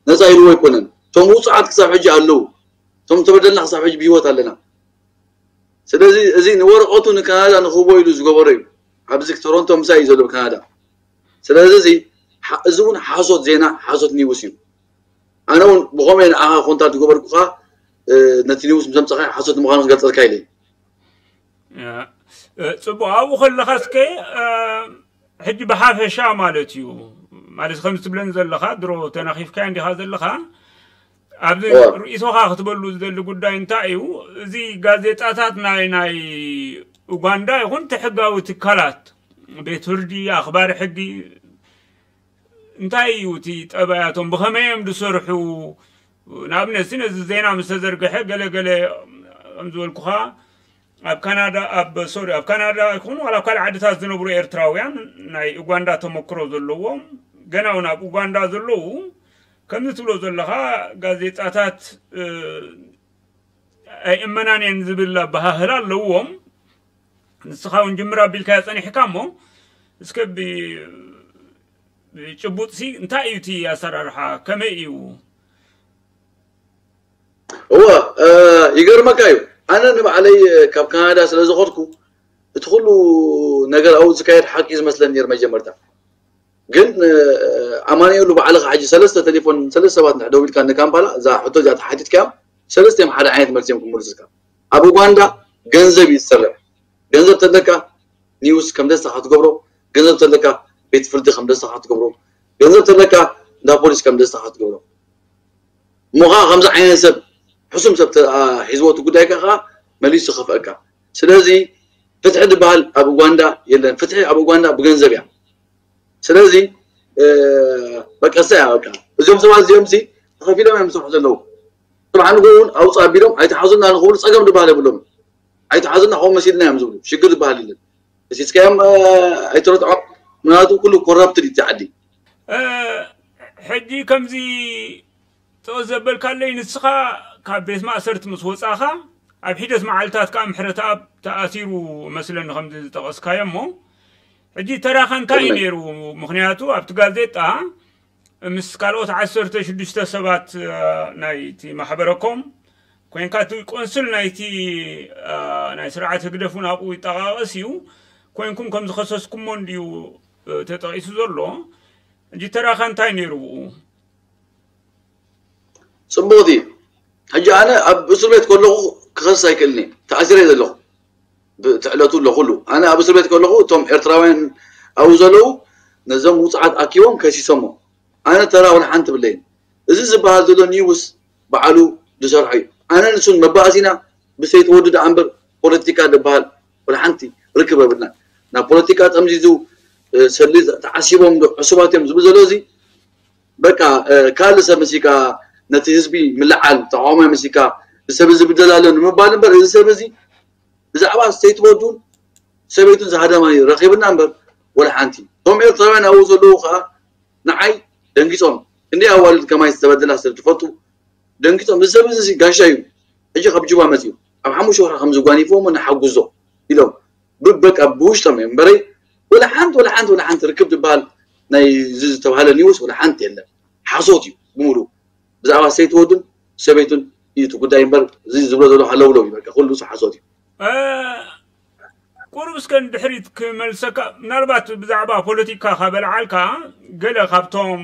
ነፃ ኢልዎ ኣይኮነን እቶም ውፁዓት ክሳብ ሕጂ ኣለዉ እቶም ተበደልና ክሳብ ሕጂ ብሂወት ኣለና ስለዚ እዚ ንወረቐቱ ንካናዳ ንክህቦ ኢሉ ዝገበሮ እዩ ኣብዚ ቶሮንቶ ምሳይ እዩ ዘሎ ካናዳ ስለዚ እዚ እዚ እውን ሓሶት ዜና ሓሶት ኒውስ እዩ ኣነ እውን ብኸመይ ንዓኻ ኮንታክት ዝገበርኩኻ ነቲ ኒውስ ምስ ኣምፀኻ ሓሶት ምዃኑ ክገልፀልካ ኢለ ፅቡቅ ኣብኡ ከለኻ እስከ ሕጂ ብሓፈሻ ማለት እዩ ማለት ከም ትብለኒ ዘለኻ ድሮ ተናኺፍካ እንዲኻ ዘለኻ ኣብዚ ርእይቶኻ ክትበሉ ዝደሊ ጉዳይ እንታይ እዩ እዚ ጋዜጣታት ናይ ናይ ኡጋንዳ ይኹን እቲ ሕጋዊ ትካላት ቤት ፍርዲ ኣኽባሪ ሕጊ እንታይ እዩ እቲ ጠባያቶም ብኸመይ እዮም ዝሰርሑ ንኣብነት ነዚ ዜና ምስ ተዘርግሐ ገለገለ ከም ዝበልኩኻ ኣብ ካናዳ ኣብ ሶሪ ኣብ ካናዳ ይኹን ዋላ ኣብ ካልእ ዓድታት ዝነብሩ ኤርትራውያን ናይ ኡጋንዳ ተመክሮ ዘለዎም ገና እውን ኣብ ኡጋንዳ ዘለዉ ከምዚ ትብሎ ዘለኻ ጋዜጣታት ኣይእመናን እየን ዝብል ኣበሃህላ ኣለዎም ንስኻ እውን ጅምር ኣቢልካዮ ፀኒሕካ እሞ እስከ ብጭቡጥሲ እንታይ እዩ እቲ ኣሰራርሓ ከመይ እዩ እወ ይገርመካ እዩ ኣነ ንባዕለይ ካብ ካናዳ ስለ ዝኸድኩ እቲ ኩሉ ነገር ኣብኡ ዝካየድ ሓቂ ዝመስለኒ ነር መጀመርታ ግን ኣማኒኤሉ ባዕልኻ ሕጂ ሰለስተ ቴሌፎን ሰለስተ ሰባት እንድሕር ደዊልካ ንካምፓላ እዛ ሕቶ እዚኣ ተሓቲትካዮም ሰለስተ እዮም ሓደ ዓይነት መልሲ እዮም ክምልሱልካ። ኣብ ኡጋንዳ ገንዘብ እዩ ዝሰርሕ። ገንዘብ ተለካ ኒውስ ከም ደስታኻ ትገብሮ፣ ገንዘብ ተለካ ቤት ፍርዲ ከም ደስታኻ ትገብሮ፣ ገንዘብ ተለካ እንዳ ፖሊስ ከም ደስታኻ ትገብሮ። እሞ ከዓ ከምዚ ዓይነት ሰብ ሕሱም ሰብ ተ- አ- ሒዝዎ እቲ ጉዳይ ከዓ መሊሱ ከፍአካ። ስለዚ ፍትሒ ዝበሃል ኣብ ኡጋንዳ የለን። ፍትሒ ኣብ ኡጋንዳ ብገንዘብ እያ። ስለዚ እ፣ በቃ እሳ እያ በቃ። እዚኦም ሰባት እዚኦም ሲ ተኸፊሎም እዮም ዝሰርሑ ዘለዉ። ጽባሕ ንግሆ እውን ኣውፅእ ኣቢሎም ኣይተሓዙና ንኽብሉ ፀገም ዝበሃል የብሎም። ኣይተሓዙና ከምኡ መሲልና እዮም ዝብሉ። ሽግር ዝበሃል የለን። እሲስካዮም ኣይትረትዖም። ምክንያቱ ኩሉ ኮራፕትድ እዩ ዓዲ። ሕጂ ከምዚ ጥቕስ ዘበልካለይ ንስኻ ካብ ቤት ማእሰርቲ ምስ ወፃኻ ኣብ ሒደት መዓልታት ከዓ ምሕረተኣብ ተኣሲሩ መስለኒ ከምዚ ዝጠቐስካዮ እሞ ሕጂ ተራኸ እንታይ እዩ ነይሩ? ምክንያቱ ኣብቲ ጋዜጣ ምስ ካልኦት ዓሰርተ ሽዱሽተ ሰባት ናይቲ ማሕበረኮም ኮይንካ እቲ ቆንስል ናይቲ ናይ ስርዓት ህግደፍ እውን ኣብኡ ይጠቃቀስ እዩ። ኮይንኩም ከም ዝኸሰስኩሞ እንድዩ ተጠቂሱ ዘሎ። ሕጂ ተራኸ እንታይ ነይሩ ብኡ? ፅቡቅ እዩ። ሕጂ ኣነ ኣብ እስር ቤት ከለኹ ክኸስስ ኣይክእልን እየ። ተኣሲረ እየ ዘለኹ። ብትዕለቱ ኣለኹሉ ኣነ ኣብ እስር ቤት ከለኹ እቶም ኤርትራውያን ኣብኡ ዘለዉ ነዞም ውፅዓት ኣኪቦም ከሲሶሞ። ኣነ ተራ ወላ ሓንቲ ብለይን። እዚ ዝበሃል ዘሎ ኒውስ በዓሉ ዝሰርሖ እዩ። ኣነ ንሱን መባእሲና ብሰይቲ ወዱ ደኣ እምበር ፖለቲካ ዝበሃል ወላ ሓንቲ ርክብ የብልና። ናብ ፖለቲካ ጠምዚዙ ሰሊ ተዓሲቦም ዶ ዕሱባት እዮም ዝብል ዘሎ እዚ በቃ ካልእ ሰብ መሲካ ነቲ ህዝቢ ምልዓል ተቃዋማይ መሲካ እዚ ሰብ እዚ ብደል ኣሎ ንምባል እምበር እዚ ሰብ እዚ ብዛዕባ ሰይቲ ወዱን ሰበይቱን ዝሃደማ እዩ ረኺብና እምበር ወላ ሓንቲ እቶም ኤርትራውያን ኣብኡ ዘለዉ ከዓ ንዓይ ደንጊፆም እንዲ ኣዋልድ ከማይ ዝተበደላ ሰብ ትፈልጡ ደንጊፆም እዚ ሰብ እዚ ጋሻ እዩ ሕጂ ካብ ጁባ መፅዩ ኣብ ሓሙሽተ ወርሒ ከም ዝጓኒፍዎ ንሓጉዞ ኢሎም ብበቃ ብውሽጦም እዮም እምበረይ ወላ ሓንቲ ወላ ሓንቲ ወላ ሓንቲ ርክብ ዝበሃል ናይ እዚ ዝተባሃለ ኒውስ ወላ ሓንቲ የለን ሓሶት እዩ ብምሉ ብዛዕባ ሰይቲ ወዱን ሰበይቱን እዩ እቲ ጉዳይ እምበር እዚ ዝብሎ ዘሎ ሃለውለው እዩ በቃ ኩሉ ሓሶት እዩ ቁሩብ እስከ ንድሕሪት ክመልሰካ ምናልባት ብዛዕባ ፖለቲካ ካበልዓልካ ገለ ካብቶም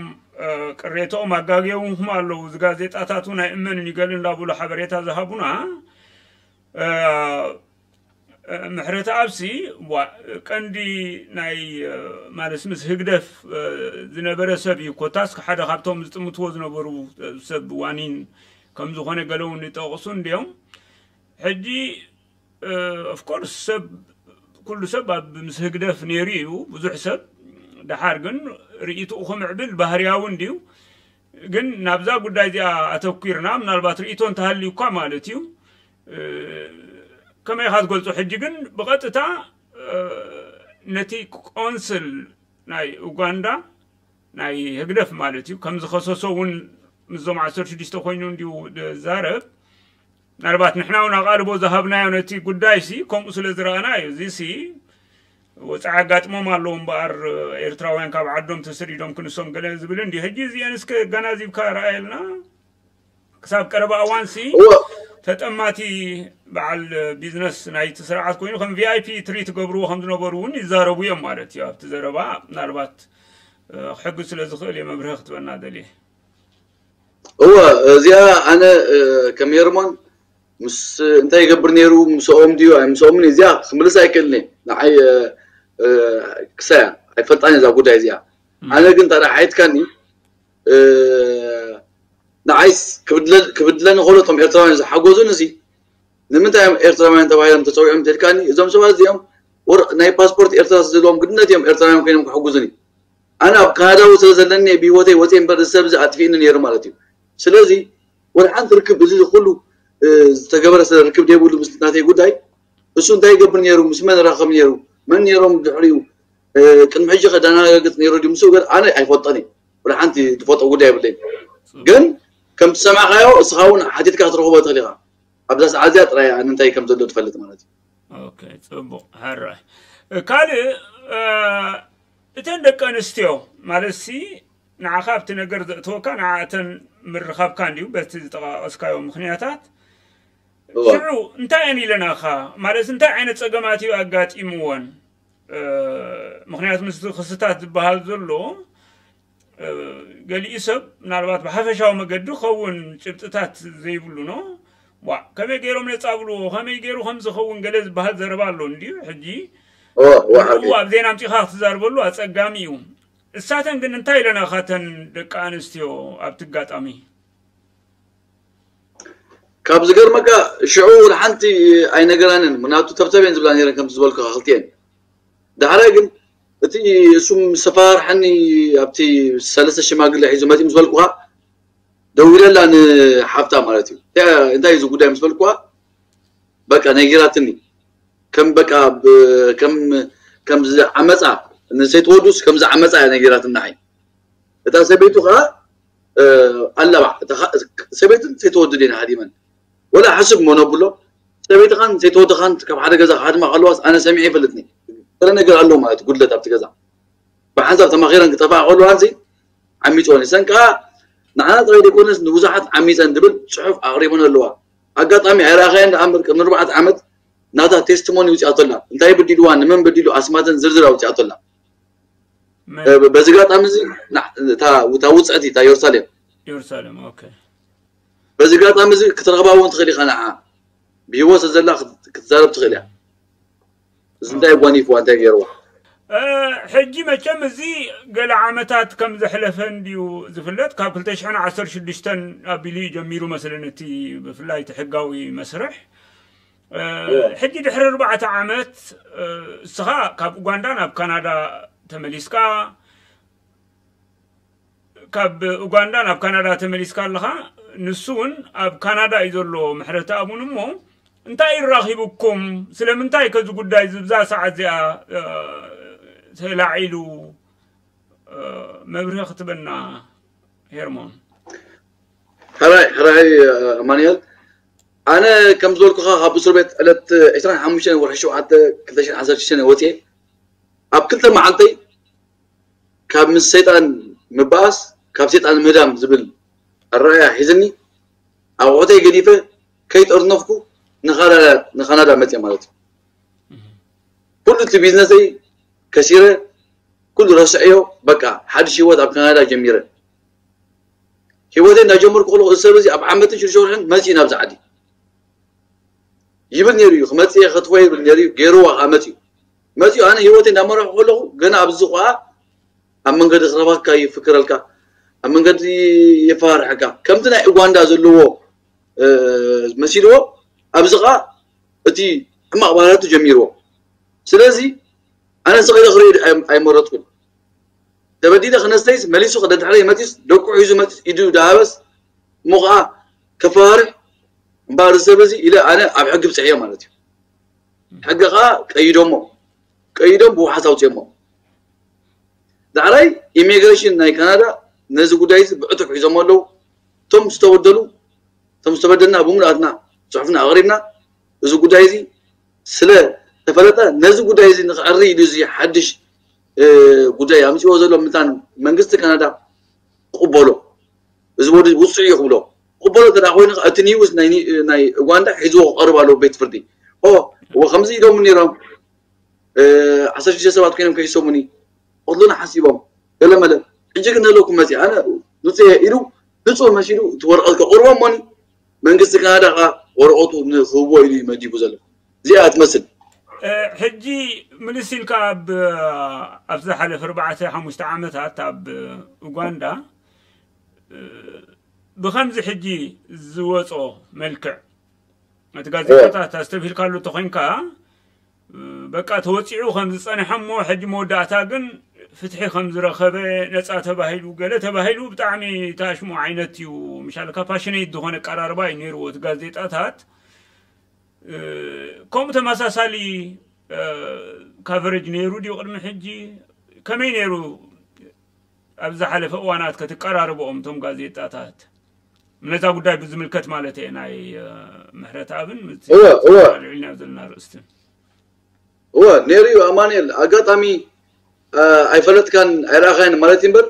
ቅሬታኦም ኣጋግዮምኩም ኣለዉ እዚ ጋዜጣታት እውን ኣይእመንን እዩ ገለ እንዳብሉ ሓበሬታ ዝሃቡና ምሕረተኣብሲ ቀንዲ ናይ ማለት ምስ ህግደፍ ዝነበረ ሰብ እዩ ኮታስ ሓደ ካብቶም ዝጥምትዎ ዝነበሩ ሰብ ዋኒን ከም ዝኾነ ገለ እውን ይጠቕሱ እንዲዮም ሕጂ ኦፍኮርስ ሰብ ኩሉ ሰብ ኣብ ምስ ህግደፍ ነይሩ እዩ ብዙሕ ሰብ ደሓር ግን ርእይትኡ ክምዕብል ባህርያዊ እንድዩ ግን ናብዛ ጉዳይ እዚኣ ኣተኲርና ምናልባት ርእይቶ እንተሃልዩ እኳ ማለት እዩ ከመይ ኢኻ ትገልጾ ሕጂ ግን ብቐጥታ ነቲ ቆንስል ናይ ኡጋንዳ ናይ ህግደፍ ማለት እዩ ከም ዝኸሰሶ እውን ምስዞም ዓሰርተ ሽዱሽተ ኮይኑ እንድዩ ዝዛረብ ምናልባት ንሕና እውን ኣቓልቦ ዝሃብናዮ ነቲ ጉዳይ ሲ ከምኡ ስለ ዝረኣና እዩ እዚ ሲ ወፃኢ ኣጋጥሞም ኣለዉ እምበኣር ኤርትራውያን ካብ ዓዶም ተሰዲዶም ክንሶም ገለ ዝብል እንዲ ሕጂ እዚአን እስከ ኣገናዚብካ ረኣየልና ክሳብ ቀረባ እዋን ሲ ተጠማቲ በዓል ቢዝነስ ናይቲ ስርዓት ኮይኑ ከም ቪኣይፒ ትሪት ገብርዎ ከም ዝነበሩ እውን ይዛረቡ እዮም ማለት እዩ ኣብቲ ዘረባ ምናልባት ክሕግዝ ስለ ዝኽእል እየ መብርሂ ክትበና ደልየ እወ እዚኣ ኣነ ከም ሄርሞን ምስ እንታይ ይገብር ነይሩ ምስኦም ድዩ ኣይ ምስኦምን እዚኣ ክምልስ ኣይክእልን እየ ንዓይ ክሳያ ኣይፈልጣን እዛ ጉዳይ እዚኣ ኣነ ግን ታዲያ ሓይትካኒ ንዓይስ ክብድለኒ ከሎ እቶም ኤርትራውያን ዝሓገዙን እዚ ንምንታይ እዮም ኤርትራውያን ተባሂሎም ተፀዊዖም እንተልካኒ እዞም ሰባት እዚኦም ናይ ፓስፖርት ኤርትራ ዘለዎም ግድነት እዮም ኤርትራውያን ኮይኖም ክሕግዙኒ ኣነ ኣብ ካናዳዊ ስለ ዘለኒ ብሂወተይ ወፅየ እምበር እዚ ሰብ እዚ ኣጥፊእኒ ነይሩ ማለት እዩ ስለዚ ወላ ሓንቲ ርክብ እዚ ኩሉ ዝተገበረ ስለ ርክብ ዘይብሉ ምስ ናተይ ጉዳይ እሱ እንታይ ይገብር ነይሩ ምስ መን ራኸብ ነይሩ መን ነይሮም ድሕሪኡ ቅድሚ ሕጂ ከዳናጋግፅ ነይሩ ድዩ ምስኡ ገር ኣነ ኣይፈልጦን እዩ ወላ ሓንቲ ትፈልጦ ጉዳይ የብለይ ግን ከም ትሰማዕካዮ እስኻ እውን ሓቲትካ ክትረኽቦ ትኽእል ኢኻ ኣብዛ ሰዓት እዚኣ ጥራይ ኣነ እንታይ ከም ዘሎ ትፈልጥ ማለት እዩ ኦኬ ጽቡቕ ሕራይ ካልእ እተን ደቂ ኣንስትዮ ማለት ሲ ንዓኻ ኣብቲ ነገር ዘእተወካ ንዓእተን ምርኻብካ እንዲዩ በቲ ዝጠቃቀስካዮ ምክንያታት ሽዑ እንታይ እየን ኢለናኻ ማለት እንታይ ዓይነት ፀገማት እዩ ኣጋጢምወን ምክንያቱ ምስ ክስታት ዝበሃል ዘሎ ገሊኡ ሰብ ምናልባት ብሓፈሻዊ መገዲ ክኸውን ጭብጥታት ዘይብሉ ኖ ዋ ከመይ ገይሮም ነፃብልዎ ከመይ ገይሩ ከም ዝኸውን ገለ ዝበሃል ዘረባ ኣሎ እንድዩ ሕጂ ንኡ ኣብ ዜና ኣምፂኻ ክትዛርበሉ ኣፀጋሚ እዩ። እሳተን ግን እንታይ ኢለና ካተን ደቂ ኣንስትዮ ኣብቲ ኣጋጣሚ? ካብ ዝገርመካ ሽዑ ሓንቲ ኣይነገራንን ምክንያቱ ተብተብ እየን ዝብላ ነረን ከምቲ ዝበልኩ ክልቲኤን። ዳሕራይ ግን እቲ እሱም ሰፋርሐኒ ኣብቲ ሰለስተ ሽማግለ ሒዙ መፂ ምስ በልኩካ ደዊለላ ንሓፍታ ማለት እዩ እንታይ እዚ ጉዳይ ምስ በልኩካ በቃ ነጊራትኒ ከም በቃ ከም ከም ዓመፃ ንሰይትወዱስ ከም ዝዓመፃ እያ ነጊራትና እታ ሰበይቱ ከዓ ኣለባ ሰበይትን ሰይትወዱ ዲና ሃዲመን ወላ ሓስብ ሞ ነብሎ ሰበይትኻን ሰይትወድኻን ካብ ሓደ ገዛ ክሃድማ ከለዋስ ኣነ ሰሚዐ ይፈልጥኒ ገለ ነገር ኣሎ ማለት ጉድለት ኣብቲ ገዛ ብሓንሳብ ተማኺረን ክጠፍኣ ከለዋ ሲ ዓሚፅወን እሰን ከዓ ንዓና ጥራይ ዘይኮነስ ንብዙሓት ዓሚፀን ዝብል ፅሑፍ ኣቕሪበን ኣለዋ ኣጋጣሚ ኣይረኣኻየን ደኣ እምበር ቅድሚ ኣርባዕተ ዓመት ናታ ቴስቲሞኒ ውፅኣቶ ኣላ እንታይ በዲልዋ ንመን በዲሉ ኣስማተን ዝርዝር ኣውፅኣቶ ኣላ በዚ ጋጣሚ እዚ እታ ውፅዕቲ እታ የሩሳሌም የሩሳሌም ኦኬ በዚ ጋጣሚ እዚ ክትረኽባ እውን ትኽእል ኢኻ ንዓ ብሂወት ዘላ ክትዛረብ ትኽእል እያ እዚ እንታይ ጓኒፍዋ እንታይ ገይርዋ ሕጂ መቸም እዚ ገለ ዓመታት ከም ዘሕለፈ እንድዩ ዝፍለጥ ካብ ክልተ ሽሕን ዓሰርተ ሽዱሽተን ኣቢሉ እዩ ጀሚሩ መስለኒ እቲ ብፍላይ እቲ ሕጋዊ መስርሕ ሕጂ ድሕሪ ኣርባዕተ ዓመት እስኻ ካብ ኡጋንዳ ናብ ካናዳ ተመሊስካ ካብ ኡጋንዳ ናብ ካናዳ ተመሊስካ ኣለኻ ንሱ እውን ኣብ ካናዳ እዩ ዘሎ ምሕረተ ኣቡን እሞ እንታይ ይራኺብኩም ስለምንታይ ከዚ ጉዳይ ዝብዛ ሰዓት እዚኣ ተላዒሉ መብርሂ ክትበና ሄርሞን ሕራይ ሕራይ ኣማንኤል ኣነ ከም ዝበልኩኻ ካብ እስር ቤት ዕለት ዕስራን ሓሙሽተን ወርሒ ሸውዓተ ክልተ ሽሕን ዓሰርተ ሽዱሽተን ወፅኤ ኣብ ክልተ መዓልተይ ካብ ምስ ሰይጣን ምባኣስ ካብ ሰይጣን ምህዳም ዝብል ኣረኣያ ሒዝኒ ኣቑሑተይ ገዲፈ ከይጠርነፍኩ ንካናዳ መፅየ ማለት እዩ ኩሉ እቲ ቢዝነሰይ ከሲረ ኩሉ ረስዐዮ በቃ ሓድሽ ህይወት ኣብ ካናዳ ጀሚረ ህይወተይ እንዳጀመርኩ ከለኩ እዚ ሰብ እዚ ኣብ ዓመትን ሽዱሽተ ወርሕን መፅኡ ናብዚ ዓዲ ይብል ነይሩ እዩ ክመፅእ እየ ከትወ ይብል ነይሩ እዩ ገይርዋ ከዓ መፅኡ መፅኡ ኣነ ህይወተይ እንዳመረሑ ከለኩ ገና ኣብዚ ከዓ ኣብ መንገዲ ክረባካ ይፍክረልካ ኣብ መንገዲ የፈራርሐካ ከምቲ ናይ ኡጋንዳ ዘለዎ መሲልዎ ኣብዚ ከዓ እቲ ሕማቕ ባህርያቱ ጀሚርዎ ስለዚ ኣነ ስቕ ኢለ ክሪኦ ኣይመረፅኩን ተበዲለ ክነስተይስ መሊሱ ከደድሕረይ መፂስ ደቁ ሒዙ መፂስ ኢዱ ዳሃበስ እሞ ከዓ ከፈራርሕ እምበኣር እዚ ሰብ እዚ ኢለ ኣነ ኣብ ሕጊ ብፅሕዮ ማለት እዩ ሕጊ ከዓ ቀይዶሞ ቀይዶም ብውሓስ ኣውፅኦሞ ዳዕራይ ኢሚግሬሽን ናይ ካናዳ ነዚ ጉዳይ እዚ ብዕቱብ ሒዞሞ ኣለዉ እቶም ዝተበደሉ እቶም ዝተበደልና ብምሉኣትና ፅሑፍና ኣቕሪብና እዚ ጉዳይ እዚ ስለ ተፈለጠ ነዚ ጉዳይ እዚ ንክዕሪ ኢሉ እዚ ሓድሽ ጉዳይ ኣምፅዎ ዘሎ ምታን መንግስቲ ካናዳ ክቕበሎ እዚ ወዲ ውፅዕ እዩ ክብሎ ክቕበሎ እንተ ኮይኑ እቲ ኒውስ ናይ ኡጋንዳ ሒዝዎ ክቐርብ ኣለዎ ቤት ፍርዲ እወ ከምዚ ኢሎሙ ነይሮም ዓሰርተ ሽዱሽተ ሰባት ኮይኖም ከይሰሙኒ ክቕትሉና ሓሲቦም ገለ መለ ሕጂ ግን ነለኩም መፅእ ኣነ ንፁ ኢሉ ንፁ መሲሉ እቲ ወረቐት ከቕርቦ እሞኒ መንግስቲ ካናዳ ከዓ ወረቐቱ ንክህቦ ኢሉ መዲቡ ዘሎ እዚኣ ትመስል ሕጂ ምልስ ኢልካ ኣብ ኣብ ዝሓለፈ ኣርባዕተ ሓሙሽተ ዓመታት ኣብ ኡጋንዳ ብከምዚ ሕጂ ዝወፆ መልክዕ እቲ ጋዜጣታት ኣስተብሂልካሉ እንተኮይንካ በቃ ተወፂዑ ከም ዝፀንሐ እሞ ሕጂ መወዳእታ ግን ፍትሒ ከም ዝረኸበ ነፃ ተባሂሉ ገለ ተባሂሉ ብጣዕሚ ታሽሙ ዓይነት እዩ ምሻልካ ፓሽነይት ዝኾነ ቀራርባ እዩ ነይርዎ እቲ ጋዜጣታት ከምኡ ተመሳሳሊ ካቨሬጅ ነይሩ ድዩ ቅድሚ ሕጂ ከመይ ነይሩ ኣብ ዝሓለፈ እዋናት ከትቀራርብኦም እቶም ጋዜጣታት ነዛ ጉዳይ ብዝምልከት ማለት እየ ናይ ምሕረት ኣብን ልዕልና ዘለና ርእስትን እወ ነይሩ እዩ ኣማንኤል ኣጋጣሚ ኣይፈለጥካን ኣይረኣኻያን ማለት እዩ እምበር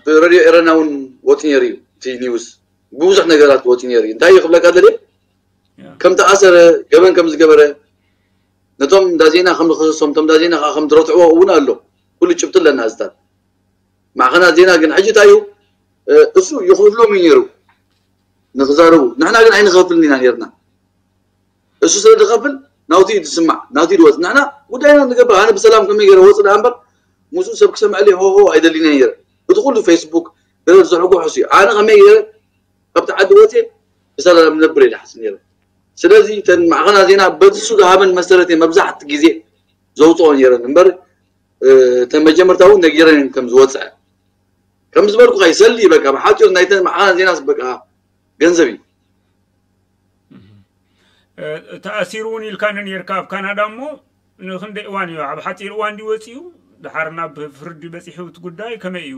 ብረድዮ ኤረና እውን ወፂ ነይሩ እዩ እቲ ኒውስ ብብዙሕ ነገራት ወፂ ነይሩ እዩ እንታይ እዩ ክብለካ ደልየ ከም ተኣሰረ ገበን ከም ዝገበረ ነቶም እንዳ ዜና ከም ዝኸሰሶም እቶም እንዳ ዜና ከዓ ከም ዝረትዕዎ እውን ኣሎ ኩሉ ጭብጢ ኣለና እዚታት ማዕኸናት ዜና ግን ሕጂ እንታይ እዩ? እሱ ይኸፍሎም እዩ ነይሩ ንክዛረቡ። ንሕና ግን ኣይንኸፍልን ኢና ነርና። እሱ ስለ ዝኸፍል ናውቲ እዩ ዝስማዕ፣ ናውቲ ድወፅ። ንሕና ጉዳይና ንገብር። ኣነ ብሰላም ከመይ ገይረ ወፅ ደኣ እምበር ምስኡ ሰብ ክሰምዐለይ ሆሆ ኣይደሊን እየ ነይረ። እቲ ኩሉ ፌስቡክ ገለ ዝሕጎ ሕሱ እዩ። ኣነ ከመይ ገይረ ካብቲ ዓዲ ወፅየ ብሰላም ነብር እየ ዝሓስብ ነይረ። ስለዚ እተን ማዕኸናት ዜና በዚ እሱ ዝሃበን መሰረት እየ መብዛሕቲ ግዜ ዘውፅኦ ነይረን እምበር እተን መጀመርታ እውን ነጊረን ከም ዝወፅዐ ከም ዝበልኩ ይሰሊ በቃ ብሓፂሩ ናይተን ማዕኸናት ዜናስ በቃ ገንዘብ እዩ። ተኣሲሩ እውን ኢልካኒ ነርካ ኣብ ካናዳ እሞ ንክንደይ እዋን እዩ ኣብ ሓፂር እዋን ድዩ ወፂኡ ድሓር ናብ ፍርዲ በፂሑ እቲ ጉዳይ ከመይ እዩ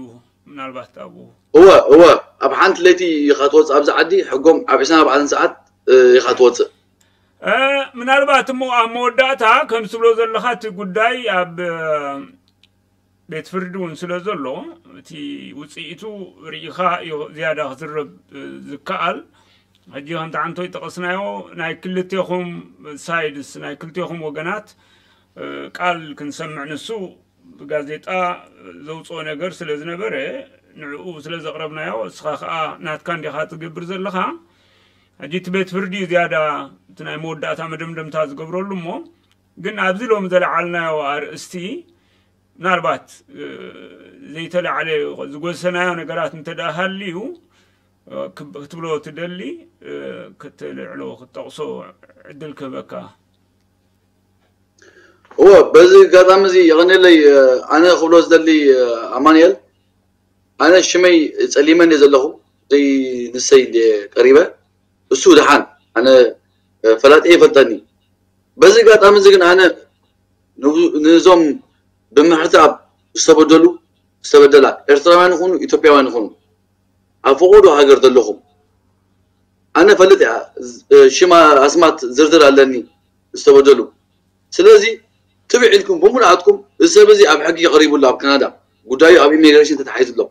ምናልባት ኣብኡ እወ እወ ኣብ ሓንቲ ለይቲ ኢኻ ትወፅእ ኣብዚ ዓዲ ሕጎም ኣብ ዕስራን ኣርባዕተን ሰዓት ኢኻ ትወፅእ ምናልባት እሞ ኣብ መወዳእታ ከም ትብሎ ዘለኻ እቲ ጉዳይ ኣብ ቤት ፍርዲ እውን ስለ ዘሎ እቲ ውፅኢቱ ርኢኻ እዩ ዝያዳ ክዝረብ ዝከኣል ሕጂ ከምቲ ሓንቶ ይጠቐስናዮ ናይ ክልቴኹም ሳይድስ ናይ ክልቴኹም ወገናት ቃል ክንሰምዕ ንሱ ብጋዜጣ ዘውፅኦ ነገር ስለ ዝነበረ ንዕኡ ስለ ዘቕረብናዮ እስኻ ከዓ ናትካ እንዲኻ ትገብር ዘለኻ ሕጂ እቲ ቤት ፍርዲ ዝያዳ እቲ ናይ መወዳእታ መደምደምታ ዝገብረሉ እሞ ግን ኣብዚ ሎም ዘለዓልናዮ ኣርእስቲ ምናልባት ዘይተላዕለ ዝጎሰናዮ ነገራት እንተ ደኣ ሃልዩ ክትብሎ ትደሊ ክትልዕሎ ክትጠቕሶ ዕድል ክህበካ እወ በዚ ኣጋጣሚ እዚ የቐንየለይ ኣነ ክብሎ ዝደሊ ኣማንኤል ኣነ ሽመይ ጸሊመ እንደ ዘለኹ ዘይ ንሰይ እንደ ቀሪበ እሱ ድሓን ኣነ ፈላጢ ይፈልጠኒ በዚ ኣጋጣሚ እዚ ግን ኣነ ንዞም ብምሕታት ዝተበደሉ ዝተበደላ ኤርትራውያን ይኹኑ ኢትዮጵያውያን ይኹኑ ኣብ ፈቆዶ ሃገር ዘለኹም ኣነ ፈልጥ እያ ሽማ ኣስማት ዝርዝር ኣለኒ ዝተበደሉ ስለዚ ትብዕ ኢልኩም ብምሉኣትኩም እዚ ሰብ እዚ ኣብ ሕጊ ቀሪቡ ኣሎ ኣብ ካናዳ ጉዳዩ ኣብ ኢሚግሬሽን ተታሒዙ ኣሎ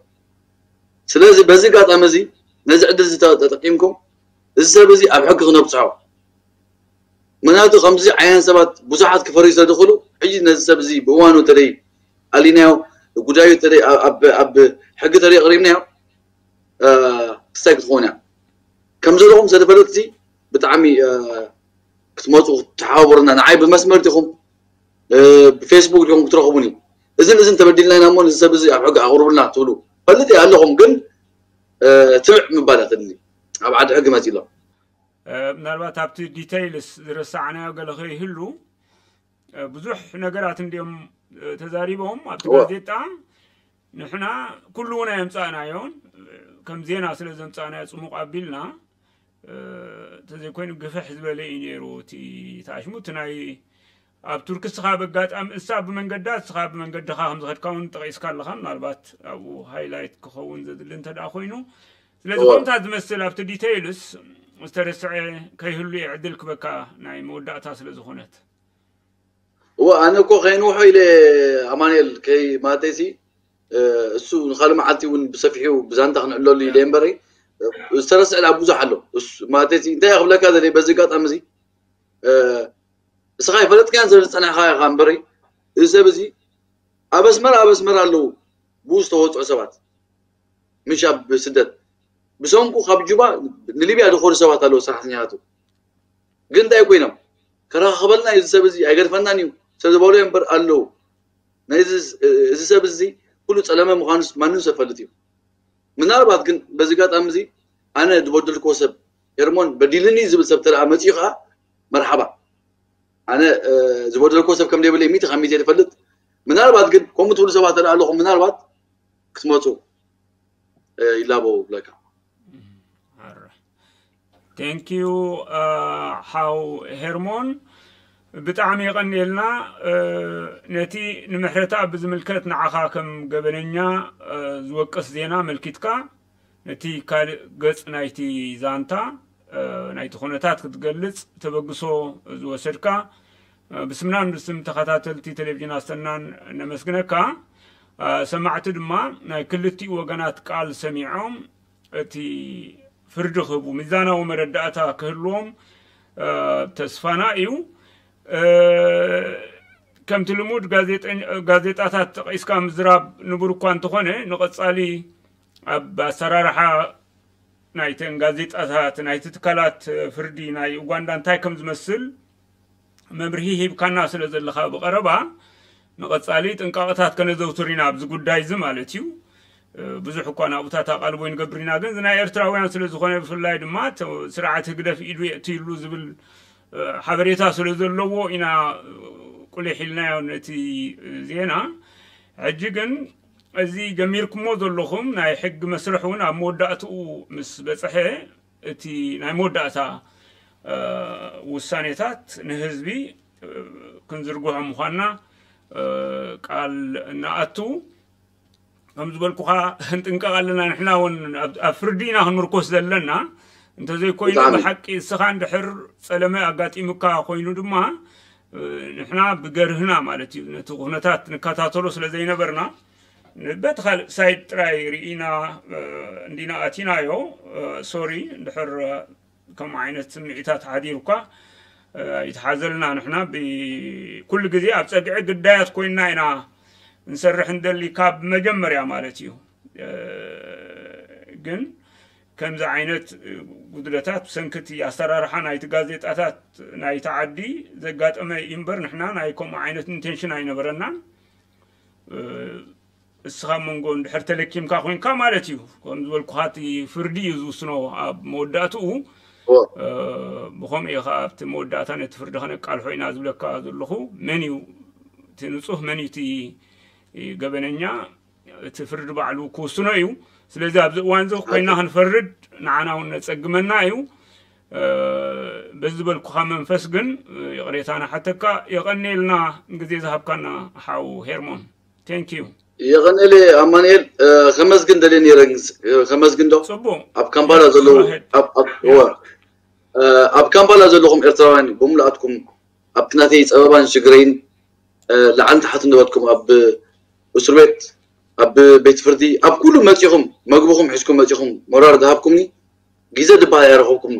ስለዚ በዚ ኣጋጣሚ እዚ ነዚ ዕድል እዚ ተጠቂምኩም እዚ ሰብ እዚ ኣብ ሕጊ ክነብፅሖ ምክንያቱ ከምዚ ዓይነት ሰባት ብዙሓት ክፈርዩ ስለ ዝኽእሉ ሕጂ ነዚ ሰብ እዚ ብእዋኑ ተለይ ኣሊናዮ ጉዳዩ ተለይ ኣብ ሕጊ ተለይ ኣቕሪብናዮ ክስታይ ክትኸውን እያ ከም ዘለኹም ስለ ዝፈለጥሲ ብጣዕሚ ክትመፁ ክትሓባበሩና ንዓይ ብመስመር ዲኹም ብፌስቡክ ዲኹም ክትረኽቡኒ እዝን እዝን ተበዲልና ኢና እሞ ንዚ ሰብ እዚ ኣብ ሕጊ ኣቕርቡልና ትብሉ ፈልጥ እየ ኣለኹም ግን ትብዕ ምባል እያ ተድሊ ኣብ ዓዲ ሕጊ መፂ ኣሎ ምናልባት ኣብቲ ዲተይልስ ዝረሳዕናዮ ገለ ከይህሉ ብዙሕ ነገራት እንዲኦም ተዛሪቦም ኣብቲ ጋዜጣ ንሕና ኩሉ እውን ኣየምፃእናዮን ከም ዜና ስለ ዘምፃእናዮ ፅሙቕ ኣቢልና እንተዘይኮይኑ ግፍሕ ዝበለ እዩ ነይሩ እቲ ተኣሽሙ እቲ ናይ ኣብ ቱርኪ እስኻ በጋጣሚ እሳ ብመንገዳ እስኻ ብመንገድኻ ከም ዝኸድካ እውን ጠቒስካ ኣለኻ ምናልባት ኣብኡ ሃይላይት ክኸውን ዘድሊ እንተ ደኣ ኮይኑ ስለዚ ከምታ ዝመስል ኣብቲ ዲተይልስ ዝተረስዐ ከይህሉ እየ ዕድል ክበካ ናይ መወዳእታ ስለ ዝኾነት እወ ኣነ እኮ ከይንውሖ ኢለ ኣማንኤል ከይ ማለተይሲ እሱ ንካልእ መዓልቲ እውን ብሰፊሑ ብዛንታ ክንዕለሉ ኢለ እምበረይ ዝተረስዐ ኣብ ብዙሕ ኣሎ ማለተይሲ እንታይ ክብለካ ዘለ በዚ ኣጋጣሚ እዚ እስኻ ይፈለጥካያን ስለ ዝፀናሕካ ኢኻ እምበረይ እዚ ሰብ እዚ ኣብ ኣስመራ ኣብ ኣስመራ ኣለዉ ብኡ ዝተወፅዑ ሰባት ምሽ ኣብ ስደት ብሰንኩ ካብ ጁባ ንሊብያ ዝኾኑ ሰባት ኣለዉ ሰራሕተኛታቱ ግን እንታይ ኮይኖም ከራኸበልና እዚ ሰብ እዚ ኣይገድፈናን እዩ ሰብ ዝበሉ እምበር ኣለዉ እዚ ሰብ እዚ ኩሉ ፀለመ ምዃኑስ ማንም ሰብ ፈልጥ እዩ ምናልባት ግን በዚ ኣጋጣሚ እዚ ኣነ ዝበደልክዎ ሰብ ኤርሞን በዲልኒ ዝብል ሰብ ተደኣ መፅኡ ከዓ መርሓባ ኣነ ዝበደልክዎ ሰብ ከም ዘይብለይ ሚእቲ ካብ ሚእቲ ዝፈልጥ ምናልባት ግን ከምኡ ትብሉ ሰባት ተደኣ ኣለኹም ምናልባት ክትመፁ ይላበው ብለካ Thank you ሓው ሄርሞን ብጣዕሚ የቐንየልና ነቲ ንምሕረታ ብዝምልከት ንዓኻ ከም ገበነኛ ዝወቅስ ዜና መልኪትካ ነቲ ካልእ ገጽ ናይቲ ዛንታ ናይቲ ኩነታት ክትገልጽ ተበግሶ ዝወሰድካ ብስምናን ብስም ተኸታተልቲ ቴሌቪዥን ኣሰናን ነመስግነካ ሰማዕቲ ድማ ናይ ክልቲኡ ወገናት ቃል ሰሚዖም እቲ ፍርዲ ክህቡ ሚዛናዊ መረዳእታ ክህልዎም ተስፋና እዩ። ከምቲ ልሙድ ጋዜጠኝ- ጋዜጣታት ጠቒስካ ምዝራብ ንቡር እኳ እንተኾነ፣ ንቐጻሊ ኣብ ኣሰራርሓ ናይተን ጋዜጣታት፣ ናይቲ ትካላት ፍርዲ ናይ ኡጋንዳ እንታይ ከም ዝመስል መብርሂ ሂብካና ስለ ዘለኻ ብቐረባ፣ ንቐጻሊ ጥንቃቐታት ከነዘውትር ኢና ኣብዚ ጉዳይ እዚ ማለት እዩ። ብዙሕ እኳ ናብኡታት ኣቓልቦ ይንገብር ኢና፣ ግን እዚ ናይ ኤርትራውያን ስለ ዝኾነ፣ ብፍላይ ድማ ተ- ስርዓት ህግደፍ ኢዱ የእትይሉ ዝብል ሓበሬታ ስለ ዘለዎ ኢና ቁሊሕ ኢልናዮ ነቲ ዜና። ሕጂ ግን እዚ ጀሚርኩሞ ዘለኹም ናይ ሕጊ መስርሕ እውን ኣብ መወዳእትኡ ምስ በጽሐ፣ እቲ ናይ መወዳእታ ውሳኔታት ንህዝቢ ክንዝርግሖ ምዃንና ቃል እናኣቱ፣ ከም ዝበልኩኻ ክንጥንቀቕ ኣለና። ንሕና እውን ኣብ ኣብ ፍርዲ ኢና ክንምርኮስ ዘለና። እንተዘይኮይኑ፣ ብጣዕሚ። ብሓቂ እስኻ እንድሕር ጸለመ ኣጋጢሙካ ኮይኑ ድማ፣ ንሕና ብገርህና ማለት እዩ፣ ነቲ ኩነታት ንከታተሎ ስለ ዘይነበርና፣ በቲ ካልእ ሳይድ ጥራይ ርኢና እንዲና ኣቲናዮ። ሶሪ እንድሕር ከም ዓይነት ስምዒታት ሓዲሩካ ይትሓዘልና። ንሕና ብኩሉ ግዜ ኣብ ጸግዒ ግዳያት ኮይንና ኢና ንሰርሕ እንደሊ፣ ካብ መጀመርያ ማለት እዩ። ግን ከምዚ ዓይነት ጉድለታት ብሰንኪ እቲ ኣሰራርሓ ናይቲ ጋዜጣታት ናይቲ ዓዲ ዘጋጠመ እዩ እምበር፣ ንሕና ናይ ከምኡ ዓይነት ኢንቴንሽን ኣይነበረናን። እስኻ መንጎ እንድሕር ተለኪምካ ኮይንካ ማለት እዩ። ከም ዝበልኩኻ፣ እቲ ፍርዲ እዩ ዝውስኖ ኣብ መወዳእትኡ። ብኸምኡ እዩ ከዓ ኣብቲ መወዳእታ ነቲ ፍርዲ ከነቃልሖ ኢና ዝብለካ ዘለኹ። መን እዩ እቲ ንጹህ፣ መን እዩ እቲ ገበነኛ፣ እቲ ፍርዲ ባዕሉ ክውስኖ እዩ። ስለዚ ኣብዚ እዋን እዚ ኮይና ክንፈርድ ንዓና እውን ነጸግመና እዩ። በዚ ዝበልኩኻ መንፈስ ግን ይቕሬታ ንሓተካ። የቐንየልና ግዜ ዝሃብካና ሓው ሄርሞን። Thank you። የቐንየለ ኣማኑኤል። ከመስግን ደልየ ነይረ። ከመስግን ዶ? ጽቡቕ። ኣብ ካምፓላ ዘለዉ፣ ኣብ- ኣብ- እወ። ኣብ ካምፓላ ዘለኹም ኤርትራውያን ብምልኣትኩም፣ ኣብቲ ናተይ ጸበባን ሽግረይን ላዕልን ታሕትን ዝበልኩም፣ ኣብ እስር ቤት፣ ኣብ ቤት ፍርዲ፣ ኣብ ኩሉ መጺኹም፣ መግብኹም ሒዝኩም መጺኹም ሞራል ዝሃብኩምኒ፣ ግዜ ድበሃል ኣይረኸብኩምኒ።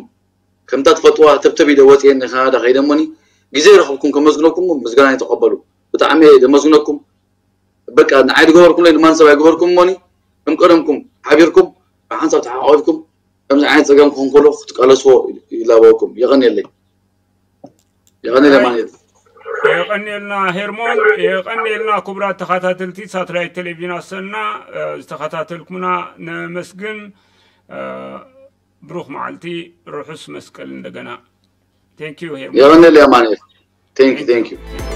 ከምታ ትፈልጥዋ፣ ተብተብ ኢለ ወጽየ ንካናዳ ከይደ እሞኒ፣ ግዜ ረኸብኩም ከመስግነኩም ምስጋና ይተቐበሉ። ብጣዕሚ እየ ዘመስግነኩም። በቃ ንዓይ ዝገበርኩምለይ ንማን ሰብ ኣይገበርኩም እሞኒ፣ ከም ቀደምኩም ሓቢርኩም ብሓንሳብ ተሓቋፊኩም ከምዚ ዓይነት ጸገም ክኾን ከሎ ክትቃለስዎ ይላበወኩም። የቐንየለይ። የቐንየለይ ኣማኑኤል። የቐንየልና ሄርሞን፣ የቐንየልና ክቡራት ተኸታተልቲ ሳትላይት ቴሌቪዥን ኣሰና፣ ዝተኸታተልኩምና ነመስግን። ብሩኽ መዓልቲ፣ ርሑስ መስቀል እንደገና። Thank you ሄርሞን። የቐንየለይ ኣማኑኤል። Thank you, thank you.